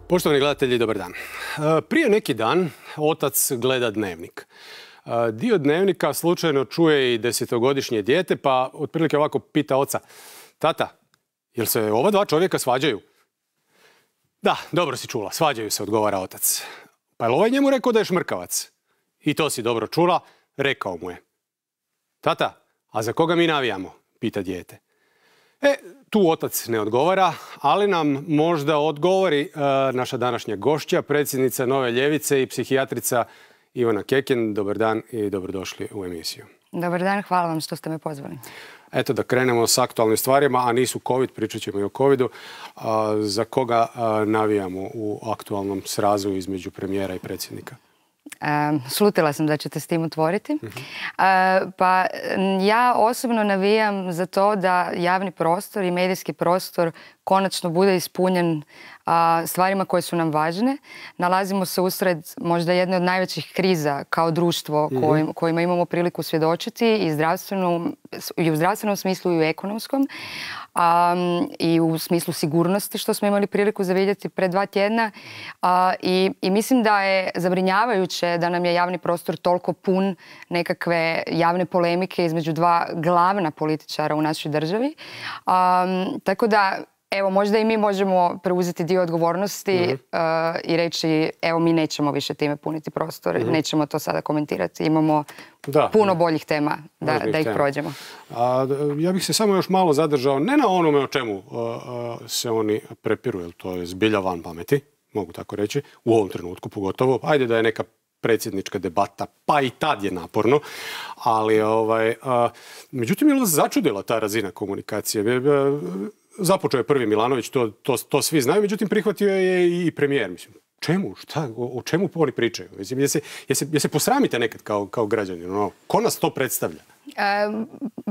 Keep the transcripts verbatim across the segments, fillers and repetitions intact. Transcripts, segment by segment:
Poštovani gledatelji, dobar dan. Prije neki dan otac gleda dnevnik. Dio dnevnika slučajno čuje i desetogodišnje dijete, pa otprilike ovako pita oca: tata, jel se ova dva čovjeka svađaju? Da, dobro si čula, svađaju se, odgovara otac. Pa je li ovaj njemu rekao da je šmrkavac? I to si dobro čula, rekao mu je. Tata, a za koga mi navijamo? Pita dijete. E, tu otac ne odgovara, ali nam možda odgovori e, naša današnja gošća, predsjednica Nove ljevice i psihijatrica Ivana Kekin. Dobar dan i dobrodošli u emisiju. Dobar dan, hvala vam što ste me pozvali. Eto da krenemo s aktualnim stvarima, a nisu COVID, pričat ćemo i o covidu. A, za koga a, navijamo u aktualnom srazu između premijera i predsjednika? Uh, slutila sam da ćete s tim otvoriti. Uh-huh. uh, pa ja osobno navijam za to da javni prostor i medijski prostor konačno bude ispunjen uh, stvarima koje su nam važne. Nalazimo se usred možda jedne od najvećih kriza kao društvo uh-huh. kojim, kojima imamo priliku svjedočiti i, zdravstvenom, i u zdravstvenom smislu i u ekonomskom. Um, i u smislu sigurnosti, što smo imali priliku zavidjeti pred dva tjedna. Uh, i, I mislim da je zabrinjavajuće da nam je javni prostor toliko pun nekakve javne polemike između dva glavna političara u našoj državi. Um, tako da, evo, možda i mi možemo preuzeti dio odgovornosti mm-hmm. uh, i reći, evo, mi nećemo više time puniti prostor, mm-hmm. nećemo to sada komentirati. Imamo da, puno da. boljih tema da, da ih tema. prođemo. A, ja bih se samo još malo zadržao, ne na onome o čemu uh, uh, se oni prepiru, jer to je zbilja van pameti, mogu tako reći, u ovom trenutku pogotovo. Ajde da je neka predsjednička debata, pa i tad je naporno, ali ovaj, uh, međutim je li vas začudila ta razina komunikacije? Započeo je prvi Milanović, to, to, to svi znaju, međutim prihvatio je i premijer. Mislim, čemu? Šta? O, o čemu oni pričaju? Mislim, je se, je se, je se posramite nekad kao, kao građani? No, ko nas to predstavlja? Um,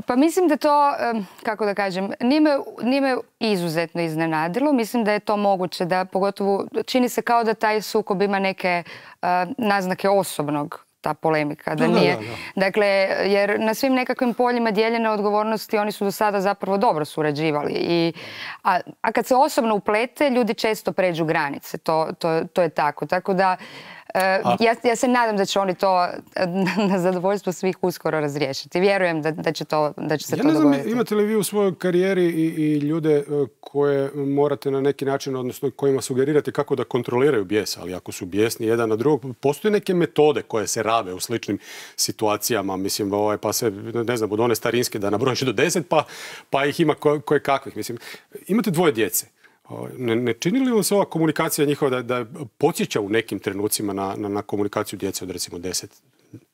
pa mislim da to, um, kako da kažem, nije me, nije me izuzetno iznenadilo. Mislim da je to moguće, da pogotovo čini se kao da taj sukob ima neke uh, naznake osobnog, ta polemika. Da nije. Da, da, da. Dakle, jer na svim nekakvim poljima dijeljene odgovornosti oni su do sada zapravo dobro surađivali. I, a, a kad se osobno uplete, ljudi često pređu granice. To, to, to je tako. Tako da Uh, ja, ja se nadam da će oni to na zadovoljstvo svih uskoro razriješiti. Vjerujem da, da, će, to, da će se ja to ne znam, dogoditi. Imate li vi u svojoj karijeri i, i ljude koje morate na neki način, odnosno kojima sugerirate kako da kontroliraju bijes, ali ako su bijesni jedan na drugog, postoje neke metode koje se rabe u sličnim situacijama, mislim, ovaj, pa se, ne znam, od one starinske da nabrojiš do deset, pa, pa ih ima koje, koje kakvih. Mislim, imate dvoje djece. Ne, ne čini li vam se ova komunikacija njihova da, da podsjeća u nekim trenucima na, na, na komunikaciju djece od recimo deset,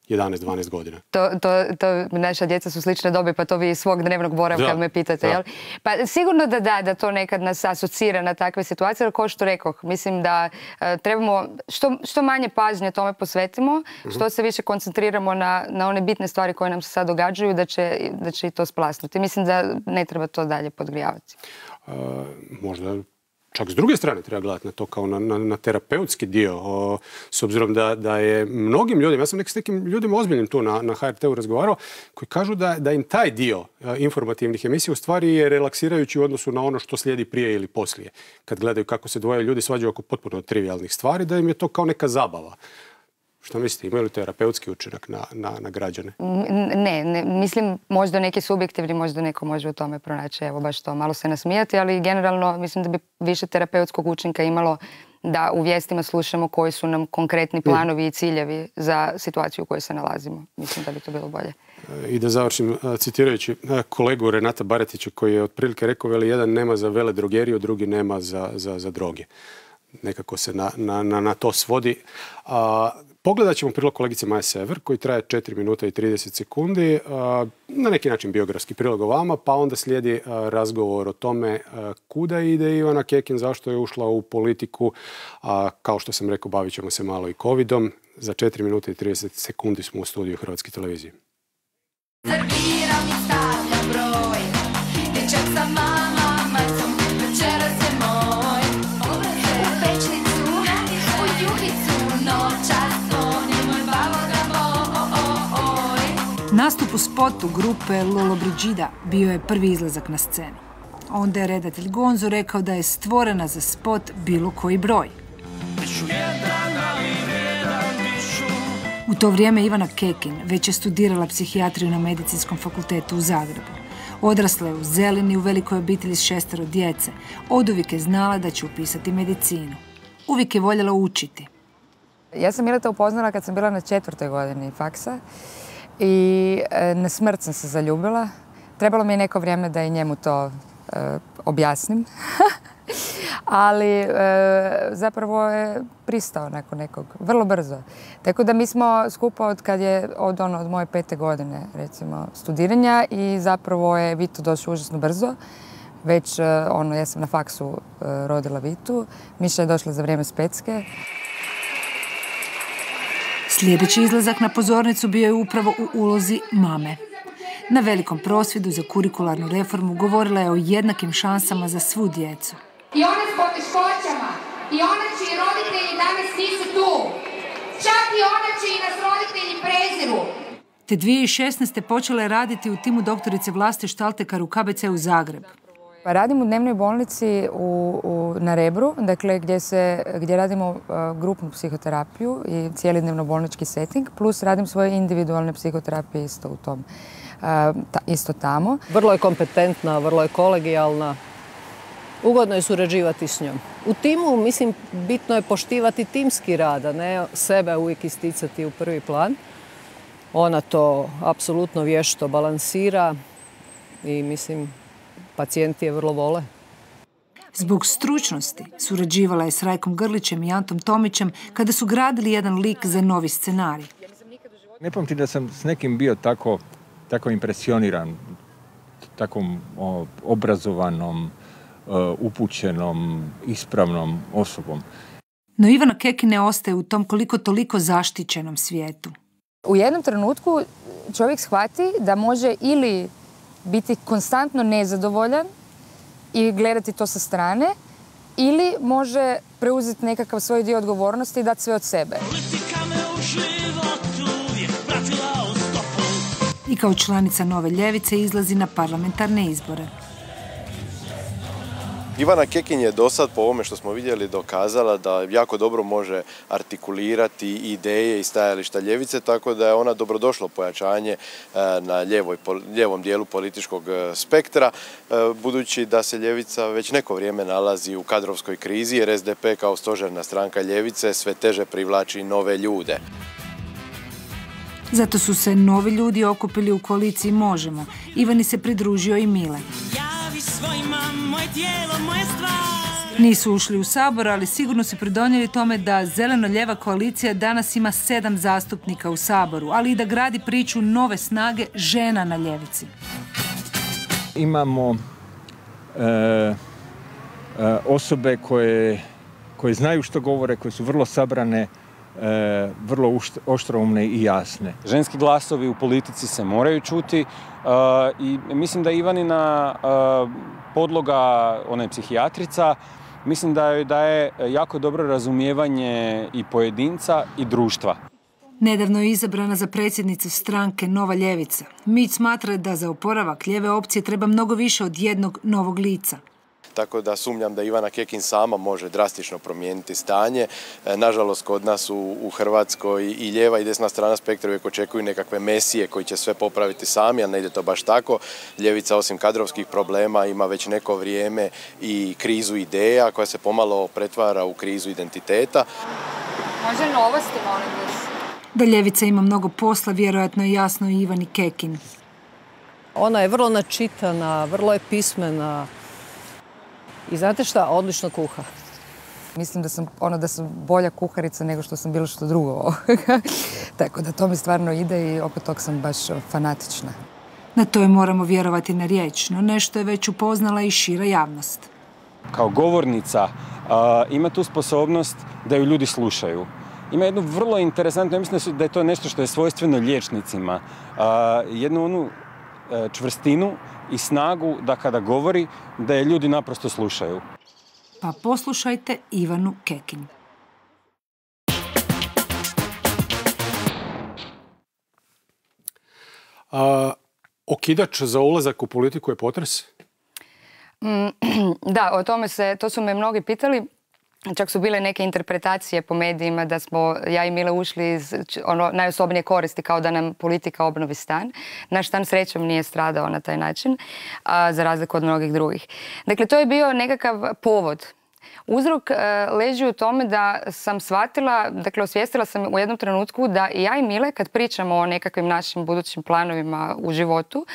jedanaest, dvanaest godina? To, to, to naša djeca su slične dobi, pa to vi iz svog dnevnog boravka da, me pitate. Jel? Pa sigurno da da, da to nekad nas asocira na takve situacije, ali kao što rekoh, mislim da uh, trebamo što, što manje pažnje tome posvetimo, uh-huh. što se više koncentriramo na, na one bitne stvari koje nam se sad događaju, da će, da će i to splasnuti. Mislim da ne treba to dalje podgrijavati. Uh, možda čak s druge strane treba gledati na to kao na, na, na terapeutski dio, o, s obzirom da, da je mnogim ljudima, ja sam nek s nekim ljudima ozbiljnim tu na, na H R T-u razgovarao, koji kažu da, da im taj dio a, informativnih emisija u stvari je relaksirajući u odnosu na ono što slijedi prije ili poslije. Kad gledaju kako se dvoje ljudi svađaju oko potpuno trivialnih stvari, da im je to kao neka zabava. Što mislite, imaju li terapeutski učinak na, na, na građane? Ne, ne, mislim možda neki subjektivni, možda neko može u tome pronaći, evo baš to, malo se nasmijati, ali generalno mislim da bi više terapeutskog učinka imalo da u vijestima slušamo koji su nam konkretni planovi i ciljevi za situaciju u kojoj se nalazimo. Mislim da bi to bilo bolje. I da završim citirajući kolegu Renata Baretića koji je otprilike rekao, veli, jedan nema za vele drogeriju, drugi nema za, za, za droge. Nekako se na, na, na, na to svodi. A, pogledat ćemo prilog kolegice Maje Sever koji traje četiri minuta i trideset sekundi. A, na neki način biografski prilog o vama, pa onda slijedi a, razgovor o tome a, kuda ide Ivana Kekin, zašto je ušla u politiku. A, kao što sam rekao, bavit ćemo se malo i covidom. Za četiri minuta i trideset sekundi smo u studiju Hrvatske televizije. Serviram i stavljam broj, dječak sa mama, macom, večeras je moj. U pečnicu, u juhicu, noćas zvoni moj baloga moj. Nastup u spotu grupe Lolo Brigida bio je prvi izlazak na scenu. Onda je redatelj Gonzo rekao da je stvorena za spot bilo koji broj. U to vrijeme Ivana Kekin već je studirala psihijatriju na Medicinskom fakultetu u Zagrebu. Odrasla je u Zelini u velikoj obitelji s šestero djece. Oduvijek je znala da će upisati medicinu. Uvijek je voljela učiti. Ja sam Mileta upoznala kad sam bila na četvrtoj godini faksa i na smrt sam se zaljubila. Trebalo mi je neko vrijeme da i njemu to e, objasnim. Ali e, zapravo je pristao nakon nekog, vrlo brzo. Tako da mi smo skupa od kad je od, ono, od moje pete godine recimo studiranja i zapravo je Vito došao užasno brzo. Već ono, ja sam na faksu e, rodila Vitu, Miša je došla za vrijeme Specke. Sljedeći izlazak na pozornicu bio je upravo u ulozi mame. Na velikom prosvjedu za kurikularnu reformu govorila je o jednakim šansama za svu djecu. I one s poteškoćama, i one čiji roditelji danas nisu tu. Čak i one čiji nas roditelji preziru. Te dvije tisuće šesnaeste. počela je raditi u timu doktorice Vlaste Štaltekar u K B C u Zagreb. Radim u dnevnoj bolnici u, u, na Rebru, dakle gdje, se, gdje radimo uh, grupnu psihoterapiju i cijeli dnevno-bolnički setting, plus radim svoje individualne psihoterapije isto u tom, uh, ta, isto tamo. Vrlo je kompetentna, vrlo je kolegijalna. Ugodno je surađivati s njom. U timu, mislim, bitno je poštivati timski rad, a ne sebe uvijek isticati u prvi plan. Ona to apsolutno vješto balansira i, mislim, pacijenti je vrlo vole. Zbog stručnosti surađivala je s Rajkom Grlićem i Antom Tomićem kada su gradili jedan lik za novi scenarij. Ne pamtim da sam s nekim bio tako, tako impresioniran, takvom o, obrazovanom, o, upućenom, ispravnom osobom. No Ivana Kekin ne ostaje u tom koliko toliko zaštićenom svijetu. U jednom trenutku čovjek shvati da može ili biti konstantno nezadovoljan i gledati to sa strane, ili može preuzeti nekakav svoj dio odgovornosti i dati sve od sebe. I kao članica Nove ljevice izlazi na parlamentarne izbore. Ivana Kekin je do sad, po ovome što smo vidjeli, dokazala da jako dobro može artikulirati ideje i stajališta ljevice, tako da je ona dobrodošlo pojačanje na ljevoj, ljevom dijelu političkog spektra, budući da se ljevica već neko vrijeme nalazi u kadrovskoj krizi, jer S D P kao stožerna stranka ljevice sve teže privlači nove ljude. Zato su se novi ljudi okupili u koaliciji Možemo. Ivani se pridružio i Mile. Nisu ušli u Sabor, ali sigurno su pridonijeli tome da zeleno-ljeva koalicija danas ima sedam zastupnika u Saboru, ali i da gradi priču nove snage žena na ljevici. Imamo e, e, osobe koje, koje znaju što govore, koje su vrlo sabrane, E, vrlo oštroumne i jasne. Ženski glasovi u politici se moraju čuti e, i mislim da Ivanina e, podloga, ona je psihijatrica, mislim da joj daje jako dobro razumijevanje i pojedinca i društva. Nedavno je izabrana za predsjednicu stranke Nova ljevica. Mić smatra da za oporavak lijeve opcije treba mnogo više od jednog novog lica. Tako da sumnjam da Ivana Kekin sama može drastično promijeniti stanje. Nažalost, kod nas u, u Hrvatskoj i lijeva i desna strana spektra uvijek očekuju nekakve mesije koji će sve popraviti sami, a ne ide to baš tako. Ljevica, osim kadrovskih problema, ima već neko vrijeme i krizu ideja koja se pomalo pretvara u krizu identiteta. Može novosti, molim vas. Da ljevica ima mnogo posla, vjerojatno je jasno i Ivani Kekin. Ona je vrlo načitana, vrlo je pismena. I znate šta? Odlično kuha. Mislim da sam, ono, da sam bolja kuharica nego što sam bilo što drugo. Tako da to mi stvarno ide i oko tog sam baš fanatična. Na to je moramo vjerovati na riječ, no nešto je već upoznala i šira javnost. Kao govornica a, ima tu sposobnost da ju ljudi slušaju. Ima jednu vrlo interesantnu, ja mislim da je to nešto što je svojstveno liječnicima. A, jednu onu a, čvrstinu i snagu da kada govori, da je ljudi naprosto slušaju. Pa poslušajte Ivanu Kekin. A, okidač za ulazak u politiku je potres? Da, o tome se, to su me mnogi pitali. čak su bile neke interpretacije po medijima da smo ja i Mile ušli iz ono, najosobnije koristi kao da nam politika obnovi stan. Naš stan srećom nije stradao na taj način, a, za razliku od mnogih drugih. Dakle, to je bio nekakav povod. Uzrok e, leži u tome da sam shvatila, dakle osvijestila sam u jednom trenutku da i ja i Mile kad pričamo o nekakvim našim budućim planovima u životu,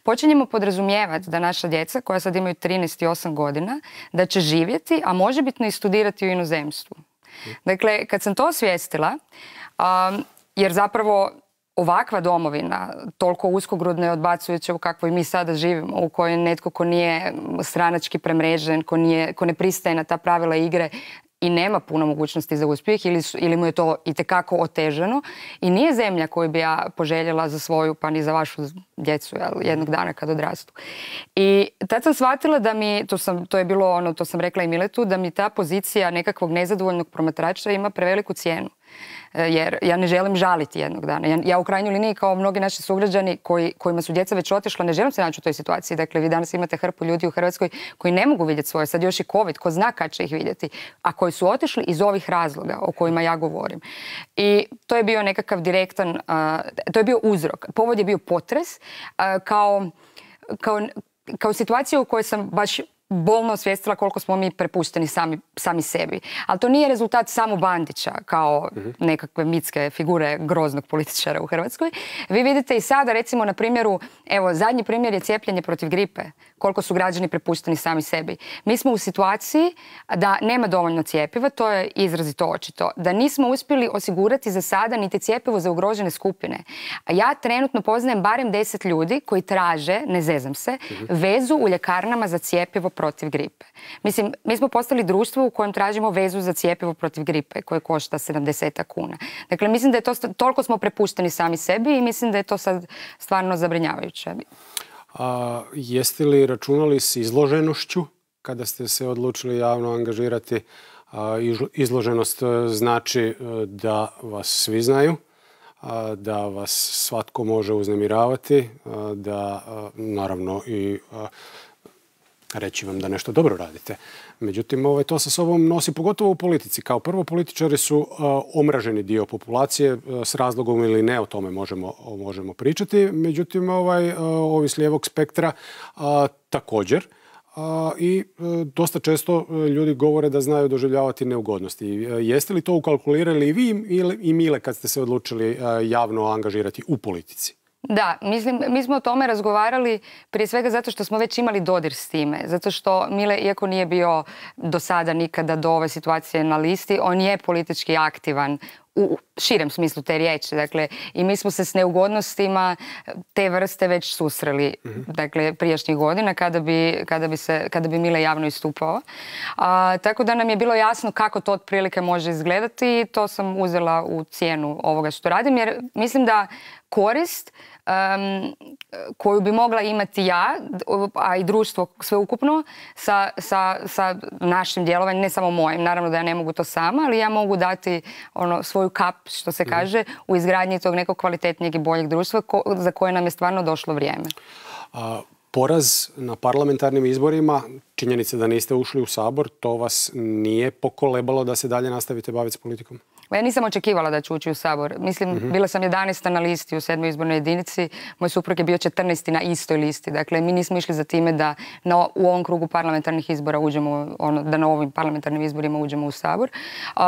počinjemo podrazumijevati da naša djeca koja sad imaju trinaest i osam godina, da će živjeti, a možebitno i studirati u inozemstvu. Dakle, kad sam to osvijestila, um, jer zapravo ovakva domovina, toliko uskogrudna i odbacujuća u kakvoj mi sada živimo, u kojoj netko ko nije stranački premrežen, ko, nije, ko ne pristaje na ta pravila igre i nema puno mogućnosti za uspjeh ili, su, ili mu je to itekako otežano i nije zemlja koju bi ja poželjela za svoju pa ni za vašu djecu jel, jednog dana kad odrastu. I tad sam shvatila da mi, to, sam, to je bilo ono, to sam rekla i Miletu, da mi ta pozicija nekakvog nezadovoljnog promatrača ima preveliku cijenu. Jer ja ne želim žaliti jednog dana. Ja, ja u krajnjoj liniji kao mnogi naši sugrađani koji, kojima su djeca već otišla, ne želim se naći u toj situaciji. Dakle, vi danas imate hrpu ljudi u Hrvatskoj koji ne mogu vidjeti svoje, sad još i COVID, ko zna kad će ih vidjeti, a koji su otišli iz ovih razloga o kojima ja govorim. I to je bio nekakav direktan, uh, to je bio uzrok. Povod je bio potres uh, kao, kao, kao situacija u kojoj sam baš bolno osvijestila koliko smo mi prepušteni sami, sami sebi. Ali to nije rezultat samo Bandića kao nekakve mitske figure groznog političara u Hrvatskoj. Vi vidite i sada recimo na primjeru, evo zadnji primjer je cijepljenje protiv gripe. Koliko su građani prepušteni sami sebi. Mi smo u situaciji da nema dovoljno cjepiva, to je izrazito očito. Da nismo uspjeli osigurati za sada niti cjepivo za ugrožene skupine. A ja trenutno poznajem barem deset ljudi koji traže, ne zezam se, vezu u ljekarnama za cjepivo protiv gripe. Mislim, mi smo postali društvo u kojem tražimo vezu za cjepivo protiv gripe koje košta sedamdeset kuna. Dakle, mislim da je to, toliko smo prepušteni sami sebi i mislim da je to sad stvarno zabrinjavajuće. A, jeste li računali s izloženošću kada ste se odlučili javno angažirati? A, izloženost znači da vas svi znaju, a, da vas svatko može uznemiravati, a, da a, naravno i a, reći vam da nešto dobro radite. Međutim, ovaj, to sa sobom nosi pogotovo u politici. Kao prvo, političari su uh, omraženi dio populacije, uh, s razlogom ili ne, o tome možemo, možemo pričati. Međutim, ovaj, uh, ovi s lijevog spektra uh, također. Uh, I uh, dosta često uh, ljudi govore da znaju doživljavati neugodnosti. Uh, jeste li to ukalkulirali i vi ili, i Mile kad ste se odlučili uh, javno angažirati u politici? Da, mislim, mi smo o tome razgovarali prije svega zato što smo već imali dodir s time. Zato što Mile, iako nije bio do sada nikada do ove situacije na listi, on je politički aktivan u širem smislu te riječi. Dakle, i mi smo se s neugodnostima te vrste već susreli, mm-hmm. dakle, prijašnjih godina kada bi, kada bi, se, kada bi Mile javno istupao. A, tako da nam je bilo jasno kako to otprilike može izgledati i to sam uzela u cijenu ovoga što radim, jer mislim da korist um, koju bi mogla imati ja, a i društvo sveukupno sa, sa, sa našim djelovanjem, ne samo mojim, naravno da ja ne mogu to sama, ali ja mogu dati ono, svoju kap, što se kaže, u izgradnji tog nekog kvalitetnijeg i boljeg društva ko, za koje nam je stvarno došlo vrijeme. A, poraz na parlamentarnim izborima, činjenica da niste ušli u Sabor, to vas nije pokolebalo da se dalje nastavite baviti s politikom? Ja nisam očekivala da ću ući u Sabor. Mislim, mm-hmm. bila sam jedanaesta na listi u sedmoj izbornoj jedinici, moj suprug je bio četrnaesti na istoj listi. Dakle, mi nismo išli za time da na, u ovom krugu parlamentarnih izbora uđemo, ono, da na ovim parlamentarnim izborima uđemo u Sabor. Uh,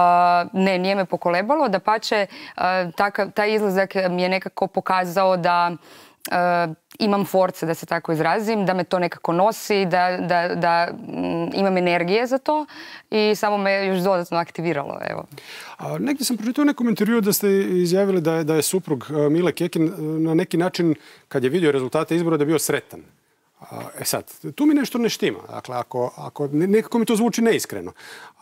ne, nije me pokolebalo. Dapače, uh, takav, taj izlazak mi je nekako pokazao da Uh, imam force, da se tako izrazim, da me to nekako nosi, da, da, da mm, imam energije za to i samo me još dodatno aktiviralo. Evo. A, negdje sam pročitao u nekom intervjuu da ste izjavili da je, da je suprug uh, Mile Kekin na neki način, kad je vidio rezultate izbora, da je bio sretan. A, e sad, tu mi nešto ne štima. Dakle, ako, ako, nekako mi to zvuči neiskreno.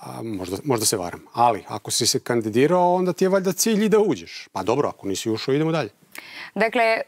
A, možda, možda se varam. Ali, ako si se kandidirao, onda ti je valjda cilj i da uđeš. Pa dobro, ako nisi ušao, idemo dalje. Dakle,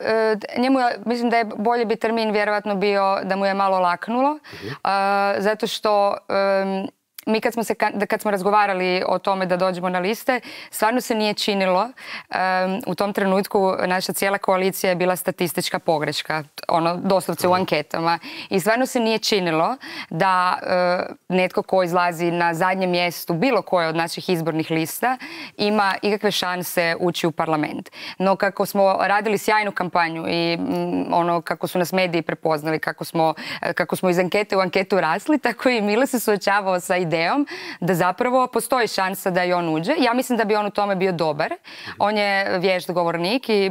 njemu je, mislim da je bolje bi termin vjerojatno bio da mu je malo laknulo, uh-huh. uh, zato što um, mi kad smo, se, kad smo razgovarali o tome da dođemo na liste, stvarno se nije činilo. Um, u tom trenutku naša cijela koalicija je bila statistička pogreška, ono, doslovce u anketama. I stvarno se nije činilo da uh, netko ko izlazi na zadnjem mjestu bilo koje od naših izbornih lista ima ikakve šanse ući u parlament. No kako smo radili sjajnu kampanju i mm, ono kako su nas mediji prepoznali, kako smo, kako smo iz ankete u anketu rasli, tako i Mile se suočavao sa idejom da zapravo postoji šansa da i on uđe. Ja mislim da bi on u tome bio dobar. On je vješt govornik i e,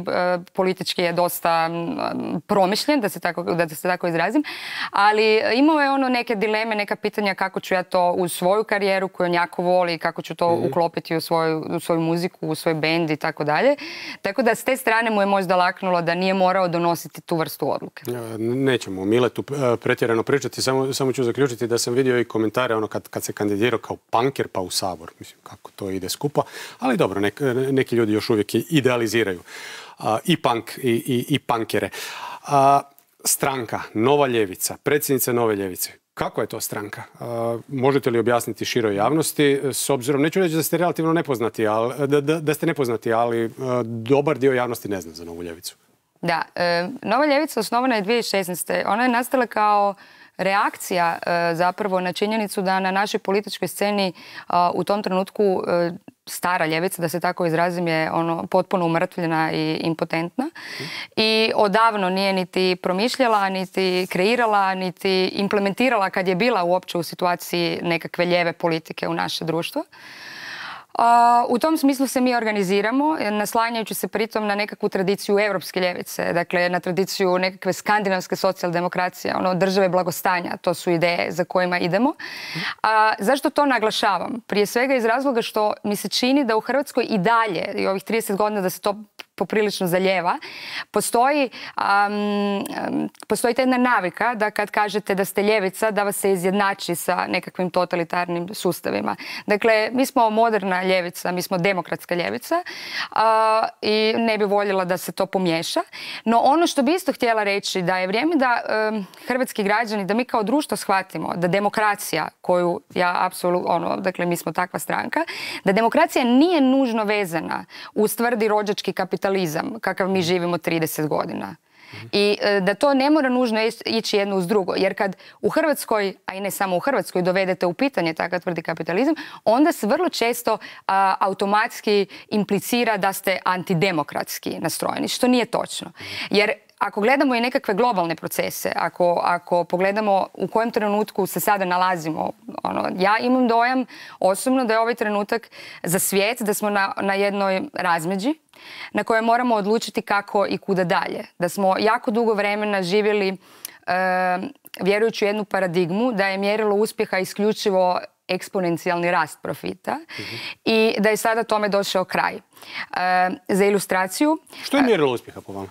politički je dosta m, promišljen, da se, tako, da se tako izrazim, ali imao je ono neke dileme, neka pitanja kako ću ja to u svoju karijeru koju on jako voli, kako ću to mm-hmm. uklopiti u svoju, u svoju muziku, u svoj bend i tako dalje. Tako da s te strane mu je možda laknulo da nije morao donositi tu vrstu odluke. Nećemo o Miletu pretjerano pričati, samo, samo ću zaključiti da sam vidio i komentare ono kad, kad se kandidirao kao punker pa u Sabor. Mislim, kako to ide skupa. Ali dobro, nek, neki ljudi još uvijek idealiziraju a, i punk i, i, i punkere. A, stranka, Nova ljevica, predsjednica Nove ljevice. Kako je to stranka? A, možete li objasniti široj javnosti? S obzirom, neću reći da ste relativno nepoznati, ali, da, da, da ste nepoznati, ali a, dobar dio javnosti ne zna za Novu ljevicu. Da, e, Nova ljevica osnovana je dvije tisuće šesnaeste. Ona je nastala kao reakcija e, zapravo na činjenicu da na našoj političkoj sceni a, u tom trenutku e, stara ljevica, da se tako izrazim, je ono potpuno umrtvljena i impotentna. Mm. I odavno nije niti promišljala, niti kreirala, niti implementirala kad je bila uopće u situaciji nekakve lijeve politike u naše društvo. Uh, u tom smislu se mi organiziramo, naslanjajući se pritom na nekakvu tradiciju europske ljevice, dakle na tradiciju nekakve skandinavske socijaldemokracije, ono, države blagostanja, to su ideje za kojima idemo. A, zašto to naglašavam? Prije svega iz razloga što mi se čini da u Hrvatskoj i dalje, i ovih trideset godina da se to poprilično zaljeva, postoji, um, postoji ta jedna navika da kad kažete da ste ljevica, da vas se izjednači sa nekakvim totalitarnim sustavima. Dakle, mi smo moderna ljevica, mi smo demokratska ljevica uh, i ne bi voljela da se to pomiješa. No ono što bi isto htjela reći da je vrijeme da um, hrvatski građani, da mi kao društvo shvatimo da demokracija koju ja apsolutno, ono, dakle mi smo takva stranka, da demokracija nije nužno vezana uz tvrdi rođački kapitalizam kakav mi živimo trideset godina. I da to ne mora nužno ići jedno uz drugo. Jer kad u Hrvatskoj, a i ne samo u Hrvatskoj, dovedete u pitanje takav tvrdi kapitalizam, onda se vrlo često a, automatski implicira da ste antidemokratski nastrojeni, što nije točno. Jer ako gledamo i nekakve globalne procese, ako, ako pogledamo u kojem trenutku se sada nalazimo, ono, ja imam dojam osobno da je ovaj trenutak za svijet, da smo na, na jednoj razmeđi na kojoj moramo odlučiti kako i kuda dalje. Da smo jako dugo vremena živjeli e, vjerujući u jednu paradigmu da je mjerilo uspjeha isključivo eksponencijalni rast profita mm-hmm. i da je sada tome došao kraj. E, za ilustraciju... Što je mjerilo uspjeha po vama?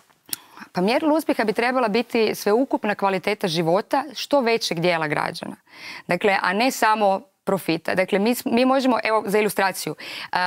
Pa mjerilo uspjeha bi trebala biti sveukupna kvaliteta života što većeg dijela građana. Dakle, a ne samo profita. Dakle, mi, mi možemo, evo za ilustraciju,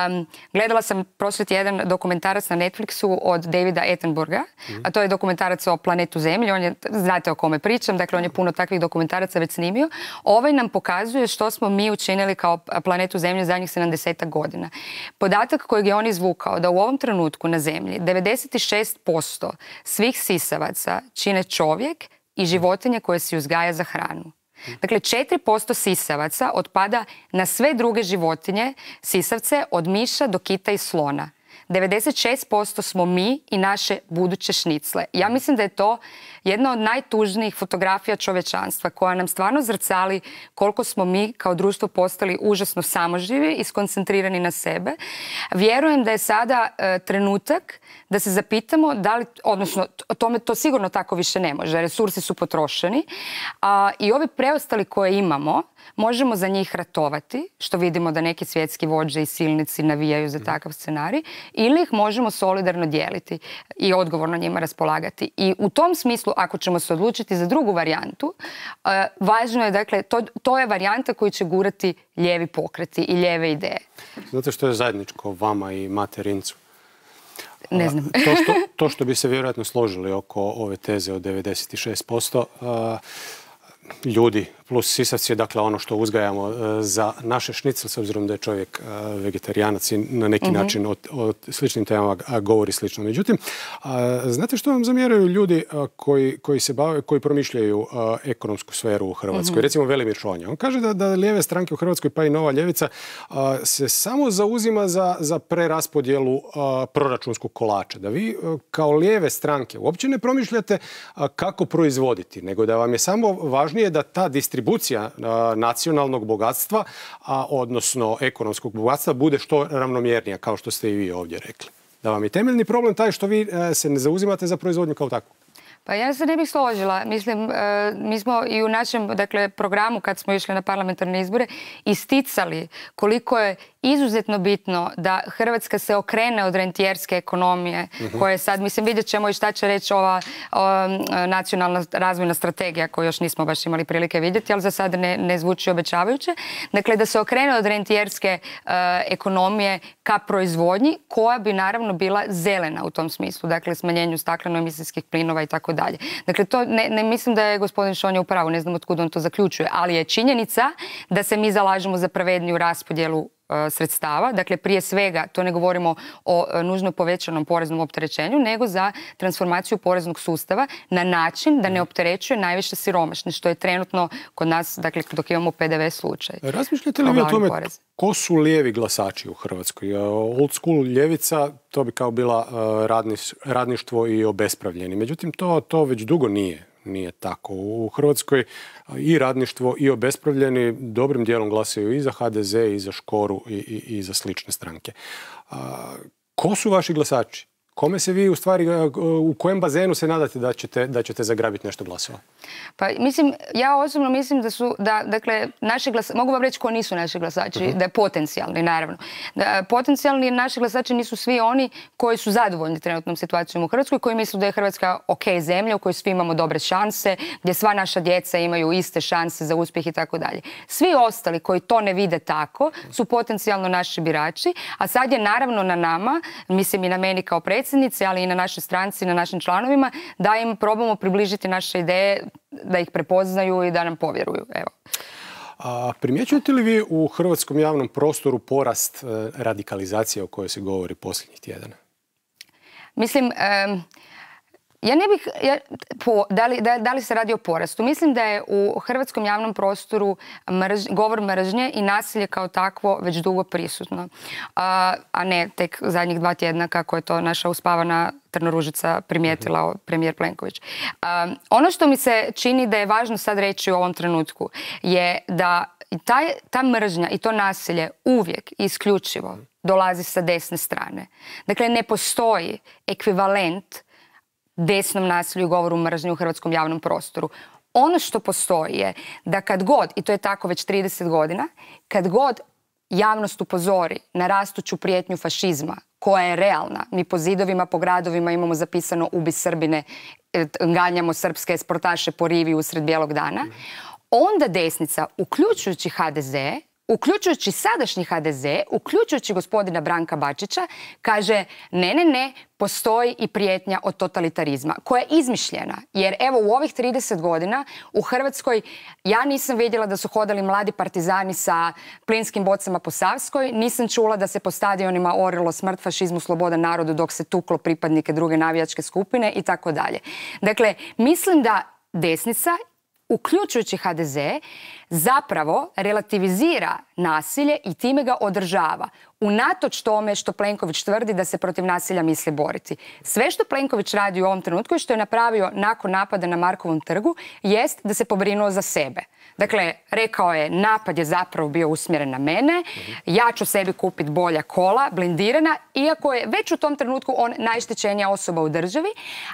um, gledala sam prošli tjedan dokumentarac na Netflixu od Davida Attenborougha, mm. a to je dokumentarac o planetu Zemlji, on je, znate o kome pričam, dakle on je puno takvih dokumentaraca već snimio. Ovaj nam pokazuje što smo mi učinili kao planetu Zemlji zadnjih sedamdeset godina. Podatak kojeg je on izvukao da u ovom trenutku na Zemlji devedeset šest posto svih sisavaca čine čovjek i životinje koje se uzgaja za hranu. Dakle, četiri posto sisavaca otpada na sve druge životinje, sisavce, od miša do kita i slona. devedeset šest posto smo mi i naše buduće šnicle. Ja mislim da je to jedna od najtužnijih fotografija čovječanstva koja nam stvarno zrcali koliko smo mi kao društvo postali užasno samoživi i skoncentrirani na sebe. Vjerujem da je sada e, trenutak da se zapitamo da li, odnosno tome to sigurno tako više ne može, resursi su potrošeni a, i ovi preostali koje imamo možemo za njih ratovati, što vidimo da neki svjetski vođe i silnici navijaju za takav scenarij, ili ih možemo solidarno dijeliti i odgovorno njima raspolagati. I u tom smislu, ako ćemo se odlučiti za drugu varijantu, uh, važno je, dakle, to, to je varijanta koju će gurati lijevi pokreti i lijeve ideje. Znate što je zajedničko vama i Mate Rimcu? Ne znam. To što, to što bi se vjerojatno složili oko ove teze od devedeset šest posto, uh, ljudi plus sisavci je dakle ono što uzgajamo za naše šnicel, s obzirom da je čovjek vegetarijanac i na neki mm-hmm. način o, o sličnim temama govori slično. Međutim, znate što vam zamjeraju ljudi koji, koji se bave, koji promišljaju ekonomsku sferu u Hrvatskoj? Mm-hmm. Recimo Velimir Šonja. On kaže da, da lijeve stranke u Hrvatskoj, pa i Nova ljevica, se samo zauzima za, za preraspodjelu proračunskog kolača. Da vi kao lijeve stranke uopće ne promišljate kako proizvoditi, nego da vam je samo važnije da ta distribucija a, nacionalnog bogatstva, a, odnosno ekonomskog bogatstva, bude što ravnomjernija, kao što ste i vi ovdje rekli. Da vam je temeljni problem taj što vi a, se ne zauzimate za proizvodnju kao takvu. Pa ja se ne bih složila. Mislim, e, mi smo i u našem dakle, programu kad smo išli na parlamentarne izbore isticali koliko je izuzetno bitno da Hrvatska se okrene od rentijerske ekonomije uh-huh. koje sad, mislim, vidjet ćemo i šta će reći ova o, nacionalna razvojna strategija koju još nismo baš imali prilike vidjeti, ali za sad ne, ne zvuči obećavajuće. Dakle, da se okrene od rentijerske uh, ekonomije ka proizvodnji koja bi naravno bila zelena u tom smislu, dakle smanjenju stakleno-emisijskih plinova i tako dalje. Dakle, to ne, ne mislim da je gospodin Šonja u pravu, ne znam od kuda on to zaključuje, ali je činjenica da se mi zalažemo za pravedniju raspodjelu sredstava. Dakle, prije svega, to ne govorimo o nužno povećanom poreznom opterećenju, nego za transformaciju poreznog sustava na način da ne opterećuje najviše siromašne, što je trenutno kod nas, dakle, dok imamo P D V slučaj. Razmišljate li vi o tome ko su lijevi glasači u Hrvatskoj? Old school ljevica, to bi kao bila radniš, radništvo i obespravljeni. Međutim, to, to već dugo nije. Nije tako. U Hrvatskoj i radništvo i obespravljeni dobrim dijelom glasaju i za H D Z, i za Škoru, i, i, i za slične stranke. A, ko su vaši glasači? Kome se vi u stvari, u kojem bazenu se nadate da ćete, da ćete zagrabiti nešto glasova? Pa mislim, ja osobno mislim da su, da, dakle, naši glasači, mogu vam reći ko nisu naši glasači, uh-huh. da je potencijalni, naravno. Da, potencijalni naši glasači nisu svi oni koji su zadovoljni trenutnom situacijom u Hrvatskoj, koji misle da je Hrvatska ok zemlja u kojoj svi imamo dobre šanse, gdje sva naša djeca imaju iste šanse za uspjeh i tako dalje. Svi ostali koji to ne vide tako su potencijalno naši birači, a sad je naravno na nama, mislim i na meni kao predsjednici, ali i na našoj stranci, na našim članovima, da im probamo približiti naše ideje, da ih prepoznaju i da nam povjeruju. Evo. A primjećujete li vi u hrvatskom javnom prostoru porast e, radikalizacije o kojoj se govori posljednjih tjedana? Mislim, e, ja ne bih, ja, po, da, li, da, da li se radi o porastu? Mislim da je u hrvatskom javnom prostoru mrž, govor mržnje i nasilje kao takvo već dugo prisutno. A, a ne tek zadnjih dva tjedna kako je to naša uspavana Trnoružica primijetila premijer Plenković. A, ono što mi se čini da je važno sad reći u ovom trenutku je da taj, ta mržnja i to nasilje uvijek i isključivo dolazi sa desne strane. Dakle, ne postoji ekvivalent desnom nasilju i govoru mržnje u hrvatskom javnom prostoru. Ono što postoji je da kad god, i to je tako već trideset godina, kad god javnost upozori na rastuću prijetnju fašizma, koja je realna, mi po zidovima, po gradovima imamo zapisano ubi Srbine, ganjamo srpske sportaše po rivi usred bijelog dana, onda desnica, uključujući H D Z, uključujući sadašnji H D Z, uključujući gospodina Branka Bačića, kaže ne, ne, ne, postoji i prijetnja od totalitarizma, koja je izmišljena. Jer evo u ovih trideset godina u Hrvatskoj ja nisam vidjela da su hodali mladi partizani sa plinskim bocama po Savskoj, nisam čula da se po stadionima orilo smrt fašizmu, sloboda narodu dok se tuklo pripadnike druge navijačke skupine i tako dalje. Dakle, mislim da desnica, uključujući H D Z, zapravo relativizira nasilje i time ga održava. Unatoč tome što Plenković tvrdi da se protiv nasilja misli boriti. Sve što Plenković radi u ovom trenutku i što je napravio nakon napada na Markovom trgu jest da se pobrinuo za sebe. Dakle, rekao je napad je zapravo bio usmjeren na mene, ja ću sebi kupiti bolja kola, blindirana, iako je već u tom trenutku on najštećenija osoba u državi,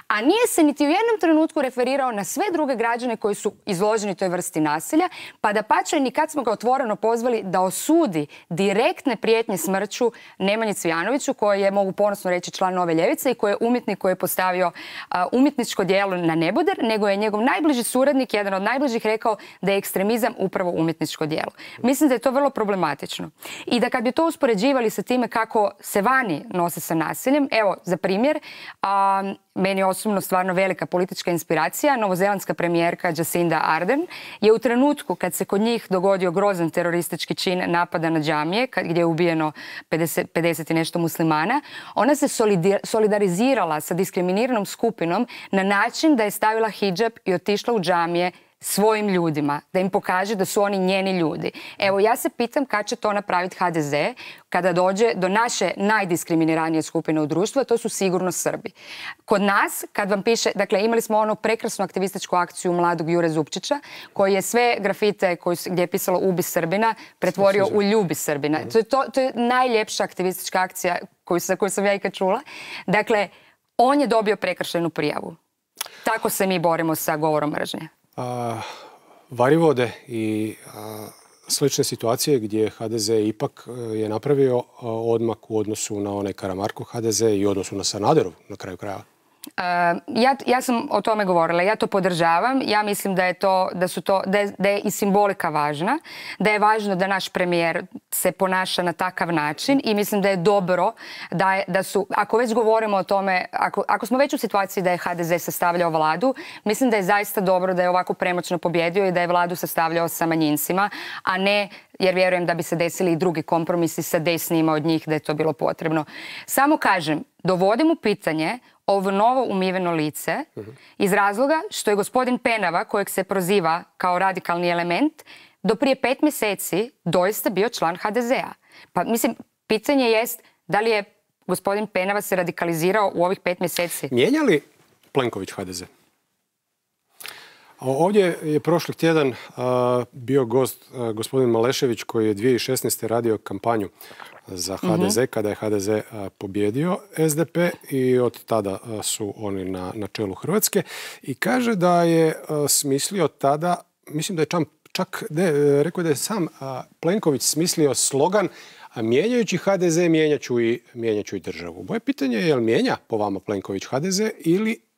a nije se niti u jednom trenutku referirao na sve druge građane koji su izloženi toj vrsti nasilja, pa da pače ni kad smo ga otvoreno pozvali da osudi direktne prijetnje smrću Nemanji Cvijanoviću, koji je, mogu ponosno reći, član Nove ljevice i koji je umjetnik koji je postavio uh, umjetničko djelo na neboder, nego je njegov najbliži suradnik, jedan od najbližih, rekao da je ekstremizam upravo umjetničko djelo. Mislim da je to vrlo problematično. I da kad bi to uspoređivali sa time kako se vani nose sa nasiljem, evo, za primjer, um, meni osobno stvarno velika politička inspiracija, novozelandska premijerka Jacinda Ardern je u trenutku kad se kod njih dogodio grozan teroristički čin napada na džamije, gdje je ubijeno pedeset, pedeset i nešto muslimana, ona se solidarizirala sa diskriminiranom skupinom na način da je stavila hidžab i otišla u džamije svojim ljudima, da im pokaže da su oni njeni ljudi. Evo, ja se pitam kad će to napraviti ha de ze kada dođe do naše najdiskriminiranije skupine u društvu, a to su sigurno Srbi. Kod nas, kad vam piše, dakle, imali smo onu prekrasnu aktivističku akciju mladog Jure Zupčića, koji je sve grafite koji su, gdje je pisalo Ubi Srbina, pretvorio u Ljubi Srbina. To je, to, to je najljepša aktivistička akcija koju, koju sam ja ikad čula. Dakle, on je dobio prekršajnu prijavu. Tako se mi borimo sa govorom mržnje. A, Varivode i a, slične situacije gdje ha de ze ipak je napravio a, odmak u odnosu na onaj Karamarkov ha de ze i u odnosu na Sanaderov na kraju krajeva. Uh, ja, ja sam o tome govorila, ja to podržavam, ja mislim da je, to, da su to, da je, da je i simbolika važna, da je važno da naš premijer se ponaša na takav način i mislim da je dobro da, je, da su, ako već govorimo o tome, ako, ako smo već u situaciji da je ha de ze sastavljao vladu, mislim da je zaista dobro da je ovako premoćno pobjedio i da je vladu sastavljao sa manjincima, a ne, jer vjerujem da bi se desili i drugi kompromisi sa desnima od njih da je to bilo potrebno. Samo kažem, dovodim u pitanje ovo novo umiveno lice iz razloga što je gospodin Penava, kojeg se proziva kao radikalni element, do prije pet mjeseci doista bio član ha de zea. Pa mislim, pitanje jest da li je gospodin Penava se radikalizirao u ovih pet mjeseci? Mijenja li Plenković ha de ze? Ovdje je prošli tjedan a, bio gost a, gospodin Malešević koji je dvije tisuće šesnaeste. radio kampanju za ha de ze, mm-hmm. kada je ha de ze a, pobjedio es de pe i od tada a, su oni na, na čelu Hrvatske. I kaže da je a, smislio tada, mislim da je čak, čak ne, rekao da je sam a, Plenković smislio slogan a mijenjajući ha de ze mijenjat ću i, mijenjat ću i državu. Moje pitanje je, je li mijenja po vama Plenković ha de ze ili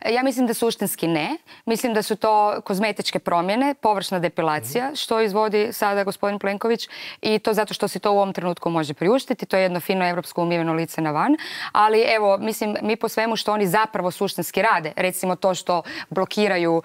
Ja mislim da suštinski ne. Mislim da su to kozmetičke promjene, površna depilacija, što izvodi sada gospodin Plenković i to zato što se to u ovom trenutku može priuštiti. To je jedno fino evropsko umiveno lice na van. Ali evo, mislim, mi po svemu što oni zapravo suštinski rade, recimo to što blokiraju uh,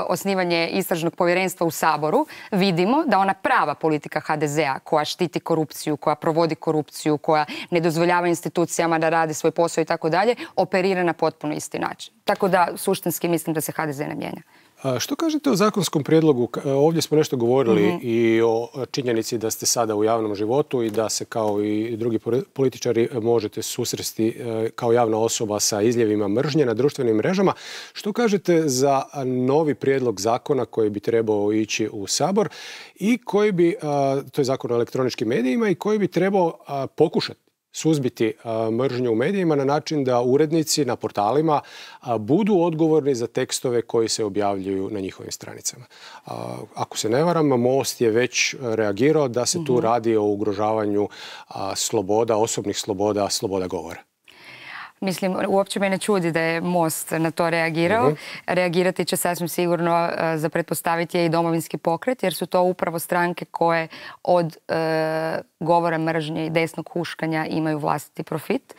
osnivanje istražnog povjerenstva u Saboru, vidimo da ona prava politika ha de zea koja štiti korupciju, koja provodi korupciju, koja ne dozvoljava institucijama da rade svoj posao i tako dalje, operira na potpuno isti način. Tako da, suštinski, mislim da se ha de ze ne mijenja. A što kažete o zakonskom prijedlogu? Ovdje smo nešto govorili mm-hmm. i o činjenici da ste sada u javnom životu i da se kao i drugi političari možete susresti kao javna osoba sa izljevima mržnje na društvenim mrežama. Što kažete za novi prijedlog zakona koji bi trebao ići u Sabor i koji bi, to je zakon o elektroničkim medijima, i koji bi trebao pokušati suzbiti a, mržnju u medijima na način da urednici na portalima a, budu odgovorni za tekstove koji se objavljuju na njihovim stranicama. A, ako se ne varam, Most je već reagirao da se tu mm-hmm. radi o ugrožavanju a, sloboda, osobnih sloboda, sloboda govora. Mislim, uopće me ne čudi da je Most na to reagirao. Mm-hmm. Reagirati će sasvim sigurno uh, za pretpostaviti je i Domovinski pokret, jer su to upravo stranke koje od uh, govora mržnje i desnog huškanja imaju vlastiti profit.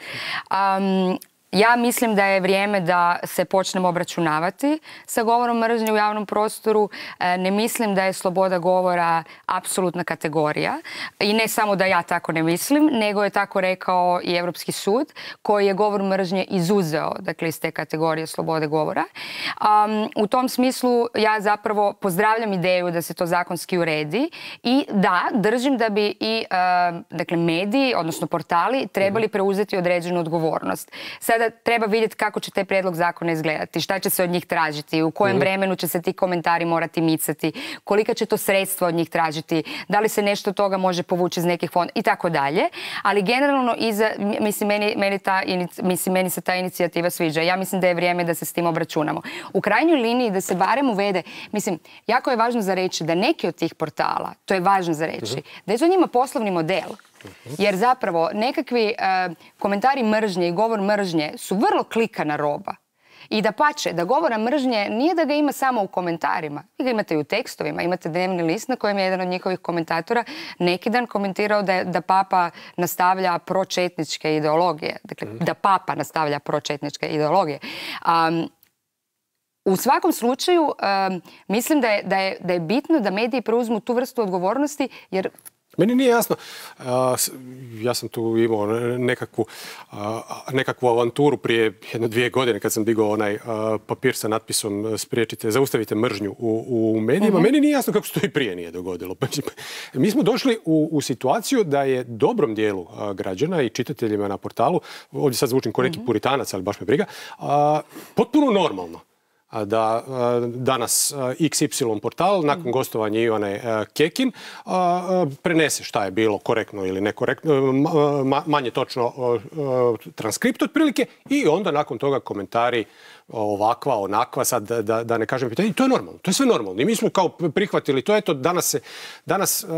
Um, Ja mislim da je vrijeme da se počnemo obračunavati sa govorom mržnje u javnom prostoru. Ne mislim da je sloboda govora apsolutna kategorija. I ne samo da ja tako ne mislim, nego je tako rekao i Europski sud koji je govor mržnje izuzeo, dakle, iz te kategorije slobode govora. Um, u tom smislu ja zapravo pozdravljam ideju da se to zakonski uredi i da, držim da bi i uh, dakle, mediji, odnosno portali, trebali preuzeti određenu odgovornost. Sada treba vidjeti kako će taj prijedlog zakona izgledati, šta će se od njih tražiti, u kojem vremenu će se ti komentari morati micati, kolika će to sredstva od njih tražiti, da li se nešto od toga može povući iz nekih fonda i tako dalje. Ali generalno, iza, mislim, meni, meni, ta, mislim, meni se ta inicijativa sviđa. Ja mislim da je vrijeme da se s tim obračunamo. U krajnjoj liniji da se barem uvede, mislim, jako je važno za reći da neki od tih portala, to je važno za reći, da je to njima poslovni model. Jer zapravo nekakvi uh, komentari mržnje i govor mržnje su vrlo klikana roba. I da pače, da govora mržnje nije da ga ima samo u komentarima. Vi ga imate i u tekstovima. Imate dnevni list na kojem je jedan od njihovih komentatora neki dan komentirao da, da papa nastavlja pročetničke ideologije. Dakle, da papa nastavlja pročetničke ideologije. Um, U svakom slučaju, um, mislim da je, da, je, da je bitno da mediji preuzmu tu vrstu odgovornosti, jer... Meni nije jasno. Uh, ja sam tu imao nekakvu, uh, nekakvu avanturu prije jedno dvije godine kad sam digao onaj uh, papir sa natpisom spriječite, zaustavite mržnju u, u medijima. Uh-huh. Meni nije jasno kako se to i prije nije dogodilo. Mi smo došli u, u situaciju da je dobrom dijelu uh, građana i čitateljima na portalu, ovdje sad zvučim ko neki uh-huh. puritanac, ali baš me briga, uh, potpuno normalno da danas iks ipsilon portal nakon gostovanja Ivane Kekin prenese šta je bilo korektno ili nekorektno, manje točno transkript otprilike i onda nakon toga komentari ovakva, onakva, sad da, da, da ne kažem pitanje. I to je normalno, to je sve normalno. I mi smo kao prihvatili to, eto, danas, se, danas uh,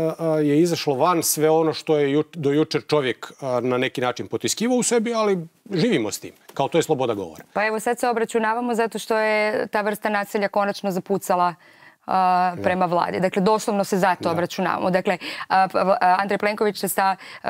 je izašlo van sve ono što je ju, do jučer čovjek uh, na neki način potiskivao u sebi, ali živimo s tim. Kao to je sloboda govora. Pa evo sad se obračunavamo zato što je ta vrsta nasilja konačno zapucala Uh, prema vladi. Dakle, doslovno se zato da. obračunavamo. Dakle, uh, Andrej Plenković se sa, uh,